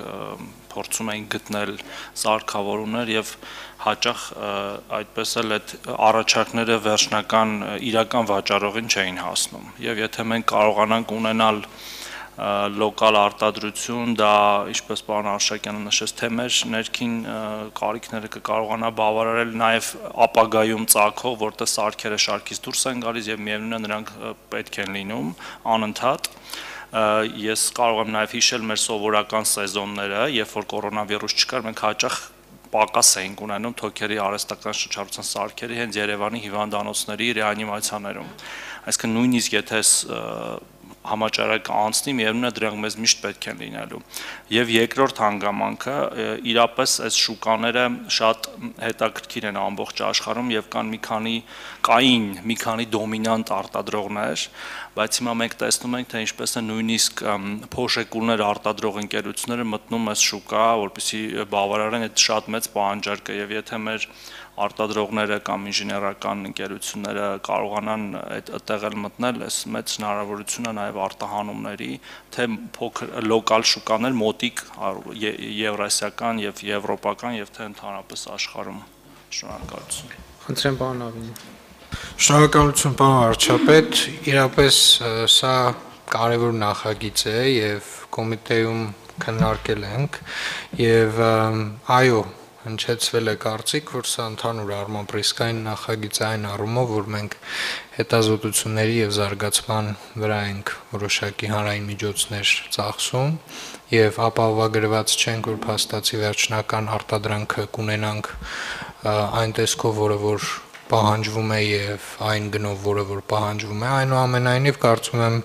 փորձում ենք գտնել սարքավորումներ եւ հաճախ այդպես էլ այդ առաջարկները վերջնական իրական վաճառողին չէին հասնում եւ եթե մենք կարողանանք ունենալ լոկալ արտադրություն, դա ինչպես պարոն Արշակյանը նշեց, թե մեր ներքին կարիքները կկարողանա բավարարել նաև ապագայում ծագող, որտեղ սարքերը շարքից դուրս են գալիս եւ միևնույն է նրանք պետք են լինում անընդհատ։ Ես կարող եմ նաև հիշել մեր սովորական սեզոնները, երբ որ կորոնավիրուս չկար, մենք հաճախ պակաս էինք ունենում թոքերի արհեստական շրջառության սարքերի հենց Երևանի հիվանդանոցների ռեանիմացիաներում։ Այսինքն նույնիսկ եթե համաճարակը անցնի, միևնույն է դրանք մեզ միշտ պետք են լինելու։ Եվ երկրորդ հանգամանքը իրապես այս շուկաները շատ հետաքրքիր են ամբողջ աշխարհում եւ կային մի քանի դոմինանտ արտադրողներ, բայց հիմա մենք տեսնում ենք, թե ինչպես է նույնիսկ փոշեկուլներ արտադրող ընկերությունները մտնում այս շուկա, որպեսզի բավարարեն այդ շատ մեծ պահանջարկը եւ եթե մեր արտադրողները կամ ինժեներական ընկերությունները կարողանան այդտեղ էլ մտնել, այս մեծ հնարավորություն է նաև արտահանումների, թե փոքր լոկալ շուկաներ մոտիկ եվրասիական եւ եվրոպական եւ թե ընդհանրապես աշխարհում։ Շնորհակալություն։ Խնդրեմ, պարոն Ավինյան։ Շնորհակալություն, պարոն վարչապետ, իրապես սա կարևոր նախագիծ է եւ կոմիտեում քննարկել ենք եւ այո, հնչեցվել է կարծիք, որ սա ընդհանուր առմամբ ռիսկային նախագիծ է այն առումով, որ մենք հետազոտությունների եւ զարգացման վրա ենք որոշակի հանրային միջոցներ ծախսում եւ ապահովագրված չենք, որ փաստացի վերջնական արտադրանքը կունենանք այն տեսքով, որը որ պահանջվում է եւ այն գնով, որը որ պահանջվում է, այնուամենայնիվ կարծում եմ,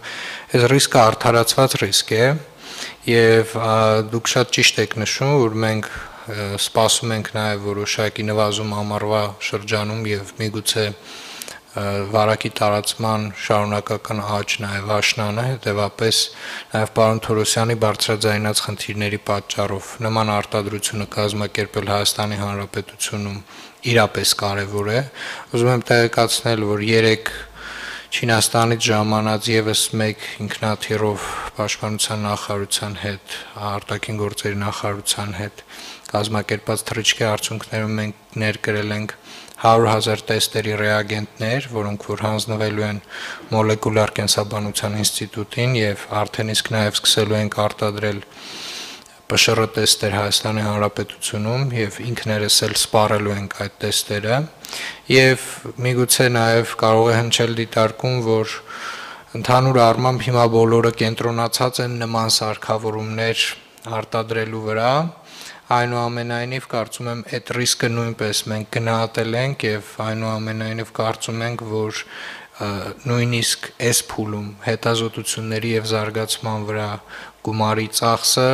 այս ռիսկը արդարացված ռիսկ է եւ դուք շատ ճիշտ եք նշում, որ մենք սպասում ենք նաև որոշակի նվազում ամառվա շրջանում եւ միգուցե վարակի տարածման շարունակական աճ նաև աշնանը, հետեւապես նաև պարոն Թորոսյանի բարձրաձայնած խնդիրների պատճառով նման արտադրությունը կազմակերպել Հայաստանի Հանրապետությունում իրապես կարևոր է։ Ուզում եմ տեղեկացնել, որ 3 Չինաստանից ժամանած եւս մեկ ինքնաթիռով Պաշտպանության նախարարության հետ, արտաքին գործերի նախարարության հետ կազմակերպած թռիչքի արդյունքներում մենք ներկրել ենք 100,000 տեստերի ռեագենտներ, որոնք որ հանձնվելու են մոլեկուլար կենսաբանության ինստիտուտին եւ արդեն իսկ նաեւ սկսելու ենք արտադրել ՊՇՌ տեստեր Հայաստանի Հանրապետությունում եւ ինքներս էլ սպառելու ենք այդ տեստերը եւ միգուցե նաեւ կարող է հնչել դիտարկում, որ ընդհանուր առմամբ հիմա բոլորը կենտրոնացած են նման սարքավորումներ արտադրելու վրա, այնուամենայնիվ կարծում եմ այդ ռիսկը նույնպես մենք գնահատել ենք եւ այնուամենայնիվ կարծում ենք, որ նույնիսկ այս փուլում հետազոտությունների եւ զարգացման վրա գումարի ծախսը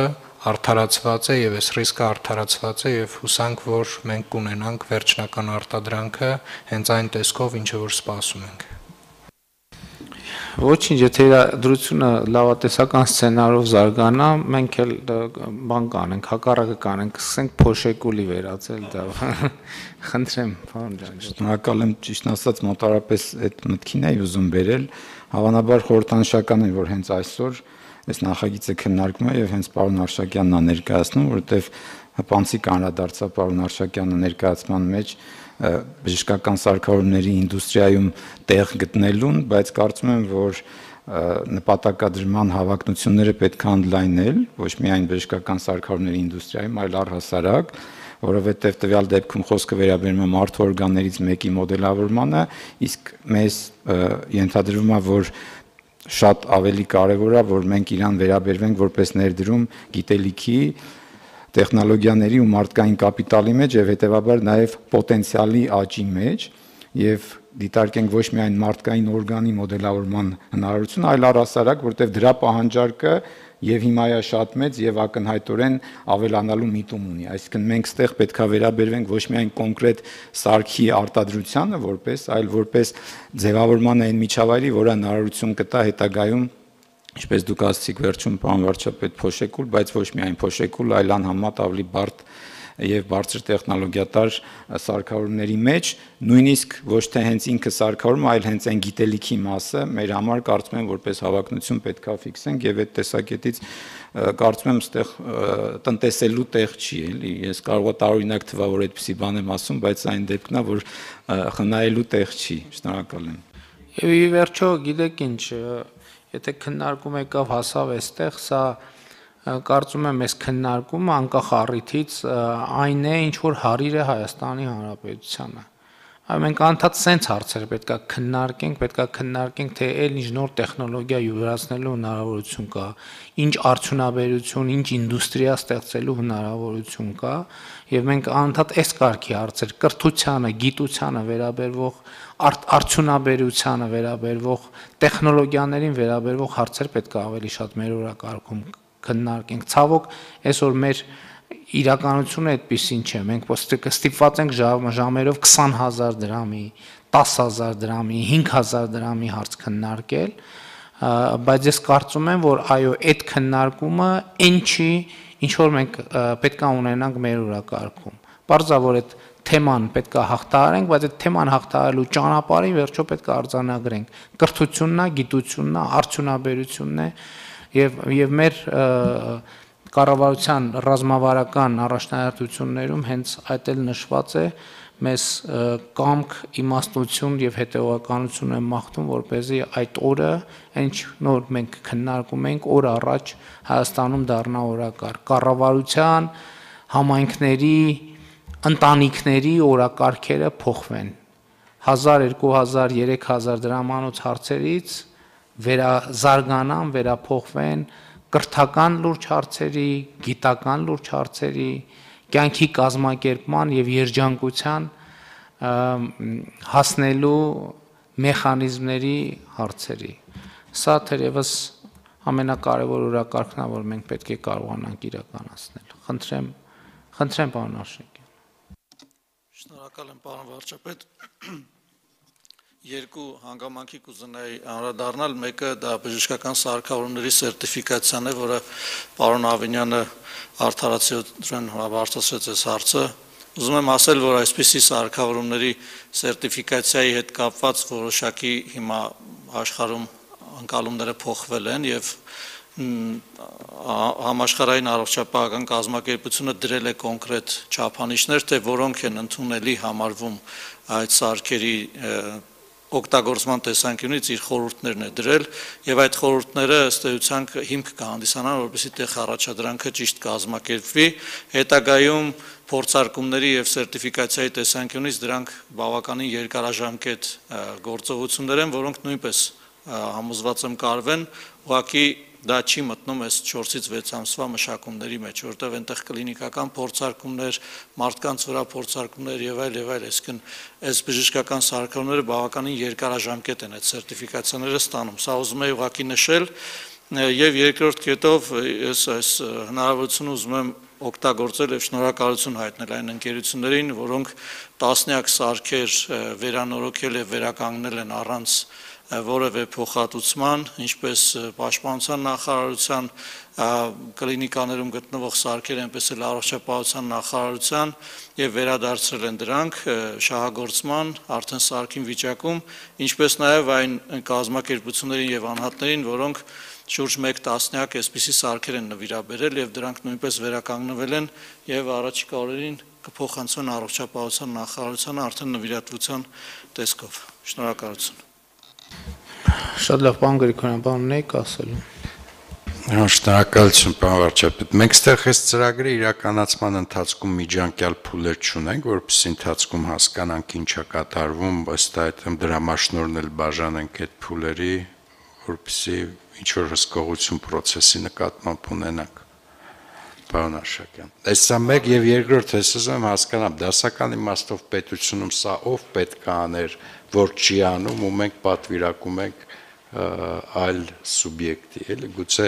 արդարացված է եւ այս ռիսկը արդարացված է եւ հուսանք, որ մենք կունենանք վերջնական արտադրանքը հենց այն տեսքով, ինչը որ սպասում ենք։ Ոչինչ, եթե իրադրությունը լավատեսական սցենարով զարգանա, մենք էլ բան կանենք, հակառակը կանենք, սկսենք փոշեկուլի վերածել դա։ Խնդրեմ, պարոն ջան։ Շնորհակալ եմ, ճիշտ ասած, մոտարապես այդ մտքին էի ուզում բերել, հավանաբար խորհրդանշական է, որ հենց այսօր այս նախագիծը քննարկվում է եւ հենց պարոն Արշակյանն է ներկայացնում, որովհետեւ հպանցիկ անդրադարձա պարոն Արշակյանը ներկայացման մեջ բժշկական սարքավորումների ինդուստրիայում տեղ գտնելուն, բայց կարծում եմ, որ նպատակադրման հավակնությունները պետք է ընդլայնել, ոչ միայն բժշկական սարքավորումների ինդուստրիայում, այլ առհասարակ, որովհետև տվյալ դեպքում խոսքը վերաբերում է մարդու օրգաններից մեկի մոդելավորմանը, իսկ մեզ ենթադրվում է, որ շատ ավելի կարևոր է, որ մենք իրան վերաբերվենք որպես ներդրում գիտելիքի, տեխնոլոգիաների ու մարդկային կապիտալի մեջ եւ հետեւաբար նաեւ պոտենցիալի աճի մեջ եւ դիտարկենք ոչ միայն մարդկային օրգանի մոդելավորման հնարավորություն, այլ առհասարակ, որտեղ դրա պահանջարկը եւ հիմա է շատ մեծ եւ ակնհայտորեն ավելանալու միտում ունի։ Այսինքն մենք ստեղ պետքա վերաբերվենք ոչ միայն կոնկրետ սարքի արտադրությանը որպես, այլ որպես ձևավորման այն միջավայրի, որը հնարավորություն կտա հետագայում Ինչպես դուք ասացիք վերջում պարոն վարչապետ փոշեկուլ, բայց ոչ միայն փոշեկուլ, այլ անհամեմատ ավելի բարդ եւ բարձր տեխնոլոգիատար սարքավորումների մեջ, նույնիսկ ոչ թե հենց ինքը սարքավորումը, այլ հենց այն գիտելիքի մասը մեր համար կարծում եմ որպես հավակնություն պետքա ֆիքսենք եւ այդ տեսակետից կարծում եմ այստեղ տնտեսելու տեղ չի, էլի, ես կարող եմ տարօրինակ թվա, որ այդպեսի բան եմ ասում, բայց այն դեպքն է, որ խնայելու տեղ չի։ Շնորհակալ եմ։ Եվ ի վերջո, գիտեք ինչ, եթե քննարկում եկավ հասավ այստեղ, սա կարծում եմ այս քննարկումը անկախ առիթից այն է, ինչ որ հարիր է Հայաստանի Հանրապետությանը։ Այո, մենք անդադ սենց հարցեր պետքա քննարկենք, թե այլ ինչ նոր տեխնոլոգիա յուրացնելու հնարավորություն կա, ինչ արդյունաբերություն, ինչ ինդուստրիա ստեղծելու հնարավորություն կա, եւ մենք անդադ այս կարգի հարցեր կրթությանը, գիտությանը վերաբերվող արդյունաբերությանը վերաբերվող տեխնոլոգիաներին վերաբերվող հարցեր պետք է ավելի շատ մեր օրակարգում քննարկենք։ Ցավոք, այսօր մեր իրականությունը այդպեսին չէ։ Մենք ստիպված ենք ժամերով 20000 դրամի, 10000 դրամի, 5000 դրամի հարց քննարկել, բայց ես կարծում եմ, որ այո, այդ քննարկումը այն չի, ինչ որ մենք պետք է ունենանք մեր օրակարգում։ Պարզա որ այդ թեման պետք է հաղթահարենք, բայց այդ թեման հաղթահարելու ճանապարհին վերջո պետք է արձանագրենք։ Կրթությունն է, գիտությունն է, արդյունաբերությունն է եւ մեր կառավարության ռազմավարական առաջնահերթություններում հենց այդ էլ նշված է մեզ կամք, իմաստություն եւ հետեւականություն են մաղթում, որպեսզի այդ օրը, ինչ նոր մենք քննարկում ենք, օր առաջ Հայաստանում դառնա օրակարգ։ Կառավարության, համայնքների, ընտանիքների օրակարգերը փոխվեն 1000, 2000, 3000 դրամանոց հարցերից վերազարգանան, վերափոխվեն կրթական լուրջ հարցերի, գիտական լուրջ հարցերի, կյանքի կազմակերպման եւ երջանկության հասնելու մեխանիզմների հարցերի։ Սա թերևս ամենակարևոր օրակարգն է, որ մենք պետք է կարողանանք իրականացնել։ Խնդրեմ պարոն Արշակյան։ Շնորհակալ եմ պարոն վարչապետ։ Երկու հանգամանքի կուզենայի անդրադառնալ, մեկը դա բժշկական սարքավորումների սերտիֆիկացիան է, որը պարոն Ավինյանը արդարացիորեն բարձրացրեց այս հարցը։ Ուզում եմ ասել, որ այսպիսի սարքավորումների սերտիֆիկացիայի հետ կապված որոշակի հիմա աշխարհում ընկալումները փոխվել են եւ համաշխարհային առողջապահական կազմակերպությունը դրել է կոնկրետ չափանիշներ, թե որոնք են ընդունելի համարվում այդ սարքերի օգտագործման տեսանկյունից իր խորհուրդներն է դրել եւ այդ խորհուրդները ըստ էության հիմք կհանդիսանան, որպեսզի տեղ առաջադրանքը ճիշտ կազմակերպվի, հետագայում փորձարկումների եւ սերտիֆիկացիայի տեսանկյունից դրանք բավականին երկարաժամկետ գործողություններ են, որոնք նույնպես համոզված եմ կարվեն, ուղղակի դա չի մտնում այս 4-ից 6 ամսվա մշակումների մեջ, որտեղ այնտեղ կլինիկական փորձարկումներ, մարդկանց վրա փորձարկումներ եւ այլ, այսինքն այս բժշկական սարքավորումները բավականին երկարաժամկետ են այդ սերտիֆիկացիաները ստանում։ Սա ուզում եմ ուղղակի նշել Եվ երկրորդ կետով ես այս հնարավորությունը ուզում եմ օգտագործել եւ շնորհակալություն հայտնել այն ընկերություններին, որոնք տասնյակ սարքեր վերանորոգել եւ վերականգնել են առանց որևէ փոխհատուցման, ինչպես Պաշտպանության նախարարության կլինիկաներում գտնվող սարքեր, այնպես էլ Առողջապահության նախարարության եւ վերադարձրել են դրանք շահագործման արդեն սարքին վիճակում, ինչպես նաեւ այն կազմակերպություններին եւ անհատներին, որոնք շուրջ 1 տասնյակ այսպիսի սարքեր են նվիրաբերել եւ դրանք նույնպես վերականգնվել են եւ առաջիկա օրերին կփոխանցվեն Առողջապահության նախարարությանը արդեն նվիրատվության տեսքով։ Շնորհակալություն։ Շատ լավ, պարոն Գրիգորյան, բան ունեիք ասելու։ Շնորհակալություն, պարոն վարչապետ։ Մենք ստեղ այս ծրագրի իրականացման ընթացքում միջանկյալ փուլեր չունենք, որովհետեւ ընթացքում հասկանանք ինչա կատարվում, ըստ այդմ դրամաշնորհն էլ բաժանենք այդ փուլերի, որովհետեւ ինչ որ հսկողություն process-ի նկատմամբ ունենանք։ Պարոն Արշակյան։ Այսա մեկ եւ երկրորդ ես ուզում եմ հասկանամ, դասական իմաստով պետությունում սա ով պետք է աներ, որ չի անում ու մենք պատվիրակում ենք այլ սուբյեկտի, էլի գուցե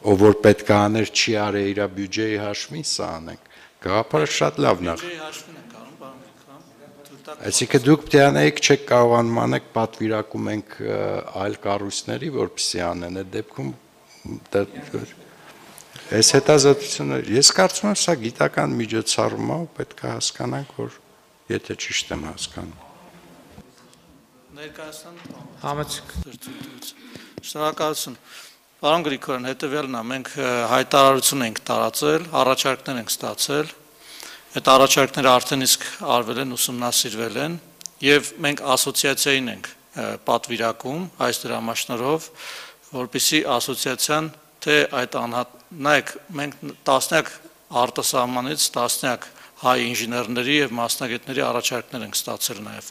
ով որ պետք է աներ չի արել իր բյուջեի հաշվին սա անենք։ Գաղափարը շատ լավն է։ Բյուջեի հաշվին ենք անում, պարոն Գրիգորյան։ Այսինքն դուք պետք է անեիք չեք կարողանում անեք պատվիրակում ենք այլ կառույցների, որպեսզի անեն, այդ դեպքում այս հետազոտությունը ես կարծում եմ սա գիտական միջոցառում է, պետք է հասկանանք, որ եթե ճիշտ եմ հասկանում։ Ներկայացան Համեցեք։ Շնորհակալություն։ Պարոն Գրիգորյան, հետևյալն է, մենք հայտարարություն ենք տարածել, առաջարկներ ենք ստացել, այդ առաջարկները արդեն իսկ արվել են, ուսումնասիրվել են, եւ մենք ասոցիացիային ենք պատվիրակում այս դրամաշնորհով, որպեսզի ասոցիացիան թե այդ նայեք, մենք տասնյակ արտասահմանից տասնյակ հայ ինժեներների եւ մասնագետների առաջարկներ ենք ստացել նաեւ,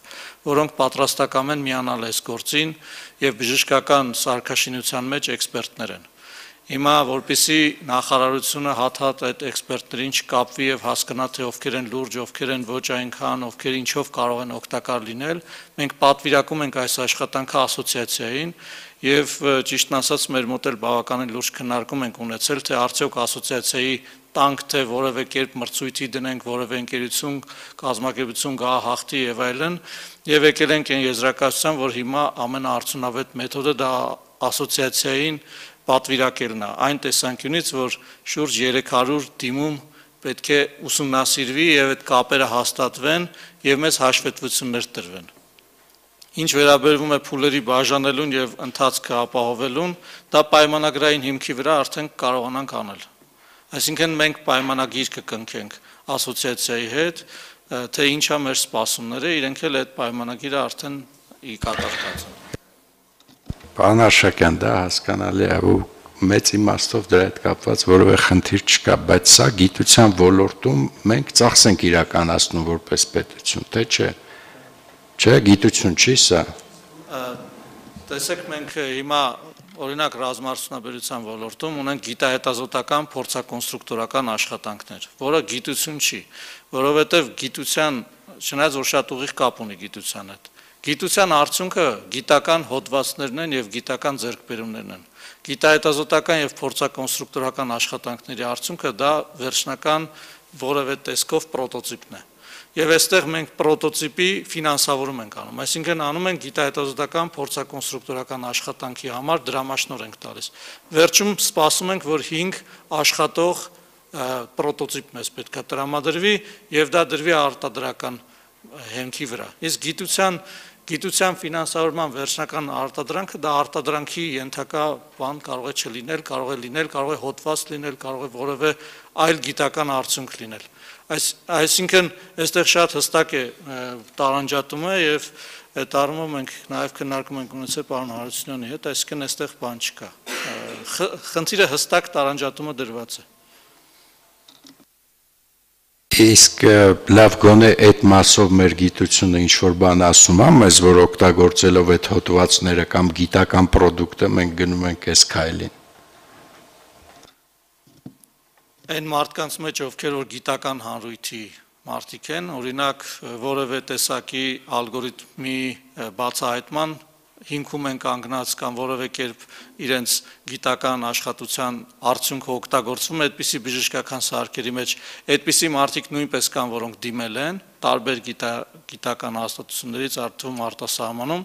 որոնք պատրաստական են միանալ այս գործին եւ բժշկական սարքաշինության մեջ էքսպերտներ են։ Հիմա որպեսզի նախարարությունը հատ-հատ այդ էքսպերտներին չկապվի եւ հասկանա թե ովքեր են լուրջ, ովքեր են ոչ այնքան, ովքեր ինչով կարող են օգտակար լինել, մենք պատվիրակում ենք այս աշխատանքը ասոցիացիային եւ ճիշտն ասած մեր մոտ էլ բավականին լուրջ քննարկում ենք ունեցել, թե արդյոք ասոցիացիայի տանք թե որևէ կերպ մրցույթի դնենք, որևէ ընկերություն, կազմակերպություն գա հաղթի եւ այլն, եւ եկել ենք այն եզրակացության, որ հիմա ամենաարդյունավետ մեթոդը դա ասոցիացիային պատվիրակելն է, այն տեսանկյունից, որ շուրջ 300 դիմում պետք է ուսումնասիրվի եւ այդ կապերը հաստատվեն եւ մեծ հաշվետվություններ տրվեն։ Ինչ վերաբերվում է փուլերի բաժանելուն եւ ընթացքը ապահովելուն, դա պայմանագրային հիմքի վրա արդեն կարողանանք անել։ Այսինքն մենք պայմանագիր կկնքենք ասոցիացիայի հետ, թե ինչա մեր սպասումները, իրենք էլ այդ պայմանագիրը արդեն կատարված են։ Պարոն Արշակյան, դա հասկանալի է ու մեծ իմաստով դրա հետ կապված որևէ խնդիր չկա, բայց սա գիտության ոլորտում մենք ծախս ենք իրականացնում որպես պետություն, թե չէ։ Չէ, գիտություն չի սա։ Տեսեք, մենք հիմա օրինակ ռազմաարդյունաբերության ոլորտում ունենք գիտահետազոտական փորձակոնստրուկտորական աշխատանքներ, որը գիտություն չի, որովհետև գիտության, չնայած որ շատ ուղիղ կապ ունի գիտության հետ, գիտության արդյունքը գիտական հոդվածներն են եւ գիտական ձեռքբերումներն են։ Գիտահետազոտական եւ փորձակոնստրուկտորական աշխատանքների արդյունքը դա վերջնական որևէ տեսքով պրոտոտիպն է։ Եվ այստեղ մենք պրոտոտիպի ֆինանսավորում ենք անում, այսինքն անում ենք գիտահետազոտական փորձակոնստրուկտորական աշխատանքի համար դրամաշնորհ ենք տալիս։ Վերջում սպասում ենք, որ 5 աշխատող պրոտոտիպ մեզ պետք է տրամադրվի եւ դա դրվի արտադրական հենքի վրա։ Իսկ գիտության ֆինանսավորման վերջնական արտադրանքը դա արտադրանքի ենթակա բան կարող է չլինել, կարող է լինել, կարող է հոդված լինել, կարող է որևէ այլ գիտական արդյունք լինել։ Այսինքն այստեղ շատ հստակ է տարանջատումը եւ այդ առումով մենք նաեւ քննարկում ենք ունեցել պարոն Հարությունյանի հետ, այսինքն այստեղ բան չկա։ Խնդիրը հստակ տարանջատումը դրված է։ Իսկ լավ գոնե այդ մասով մեր գիտությունը ինչ որ բան ասում է, մեզ որ օգտագործելով այդ հոդվածները կամ գիտական product-ը մենք գնում ենք այս քայլին։ Այն մարդկանց մեջ ովքեր որ գիտական հանրույթի մարդիկ են, օրինակ որևէ տեսակի ալգորիթմի բացահայտման հիմքում են կանգնած կամ որևէ կերպ իրենց գիտական աշխատության արդյունքը օգտագործվում է այդպիսի բժշկական սարքերի մեջ, այդպիսի մարդիկ նույնպես կան, որոնք դիմել են տարբեր գիտական հաստատություններից արդյունքում արտասահմանում,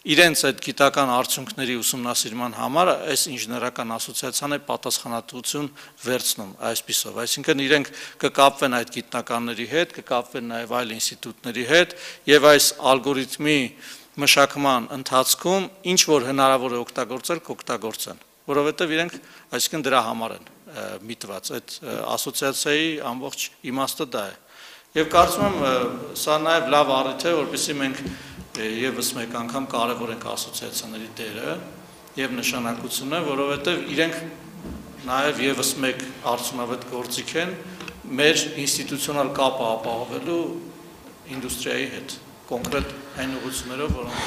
իրենց այդ գիտական արդյունքների ուսումնասիրման համար այս ինժեներական ասոցիացիան է պատասխանատվություն վերցնում այսպիսով, այսինքն իրենք կկապվեն այդ գիտնականների հետ, կկապվեն նաև այլ ինստիտուտների հետ եւ այս ալգորիթմի մշակման ընթացքում ինչ որ հնարավոր է օգտագործել, կօգտագործեն, որովհետև իրենք այսինքն դրա համար են միտված, այդ ասոցիացիայի ամբողջ իմաստը դա է։ Եվ կարծում եմ սա նաև լավ առիթ է, որպեսզի մենք եւս մեկ անգամ կարևորենք ասոցիացիաների դերը եւ նշանակությունը, որովհետև իրենք նաև եւս մեկ արդյունավետ գործիք են մեր ինստիտուցիոնալ կապը ապահովելու ինդուստրիայի հետ, կոնկրետ այն ուղղություններով, որոնք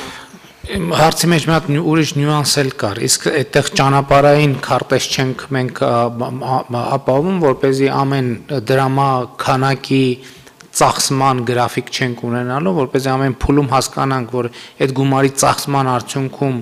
հարցի մեջ մի հատ ուրիշ նյուանս էլ կար, իսկ այդտեղ ճանապարհային քարտեզ չենք մենք ապահովում, որպեսզի ամեն դրամա քանակի ծախսման գրաֆիկ չենք ունենալու, որպեսզի ամեն փուլում հասկանանք, որ այդ գումարի ծախսման արդյունքում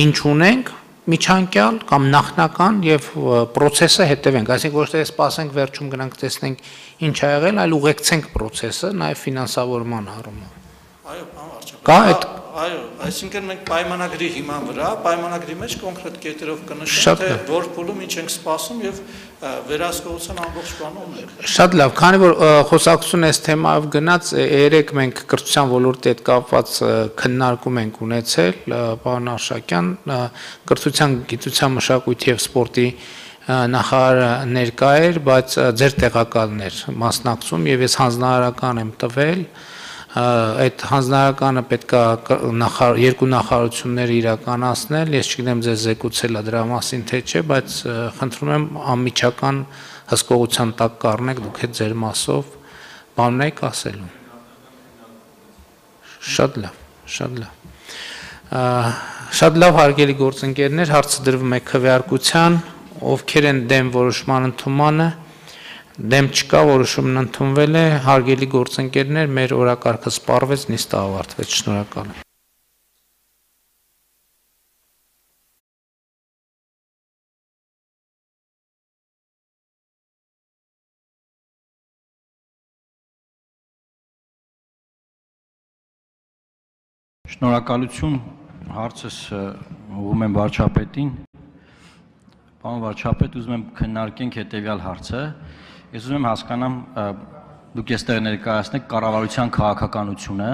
ինչ ունենք, միջանկյալ կամ նախնական եւ process-ը հետևենք, այսինքն ոչ թե սպասենք վերջում գնանք տեսնենք ինչ ա եղել, այլ ուղեկցենք process-ը նաեւ ֆինանսավորման առումով։ Այո, բան վարչապետ։ Կա այդ Այո, այսինքն մենք պայմանագրի հիման վրա, պայմանագրի մեջ կոնկրետ կետերով կնշենք, թե որ փուլում ինչ ենք սպասում եւ վերահսկողության ամբողջ բանը ունենք։ Շատ լավ, քանի որ խոսակցություն այս թեմայով գնաց, երեք մենք կրթության ոլորտի հետ կապված քննարկում ենք ունեցել, պարոն Արշակյան, կրթության, գիտության, մշակույթի եւ սպորտի նախարարը ներկա էր, բայց ձեր տեղակալն էր մասնակցում եւ ես հանձնարարական եմ տվել այդ հանձնարարականը պետք է երկու նախարարությունները իրականացնել, ես չգիտեմ ձեզ զեկուցել է դրա մասին թե չէ, բայց խնդրում եմ անմիջական հսկողության տակ կառնեք դուք այդ ձեր մասով բան եք ասելու։ Շատ լավ հարգելի գործընկերներ, հարցը դրվում է քվեարկության, ովքեր են դեմ որոշման ընդունմանը, դեմ չկա, որոշումն ընդունվել է, հարգելի գործընկերներ, մեր օրակարգը սպառվեց, նիստը ավարտվեց, շնորհակալ եմ։ Շնորհակալություն, հարցս ուղղում եմ վարչապետին։ Պարոն վարչապետ, ուզում եմ քննարկենք հետևյալ հարցը։ Ես ուզում եմ հասկանամ, դուք այստեղ ներկայացնեք կառավարության քաղաքականությունը,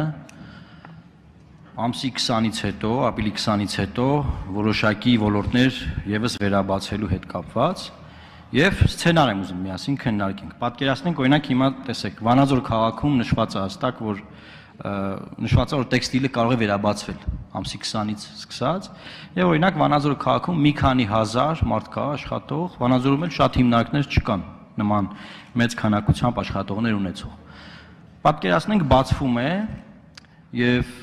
ամսի 20-ից հետո, ապրիլի 20-ից հետո որոշակի ոլորտներ եւս վերաբացելու հետ կապված եւ սցենար եմ ուզում միասին քննարկենք։ Պատկերացնենք, օրինակ հիմա տեսեք, Վանաձոր քաղաքում նշված է հստակ, որ նշված է, որ տեքստիլը կարող է վերաբացվել ամսի 20-ից սկսած եւ օրինակ Վանաձոր քաղաքում մի քանի հազար մարդ կա աշխատող, Վանաձորում էլ շատ հիմնարկներ չկան նման մեծ քանակությամբ աշխատողներ ունեցող։ Պատկերացնենք բացվում է եւ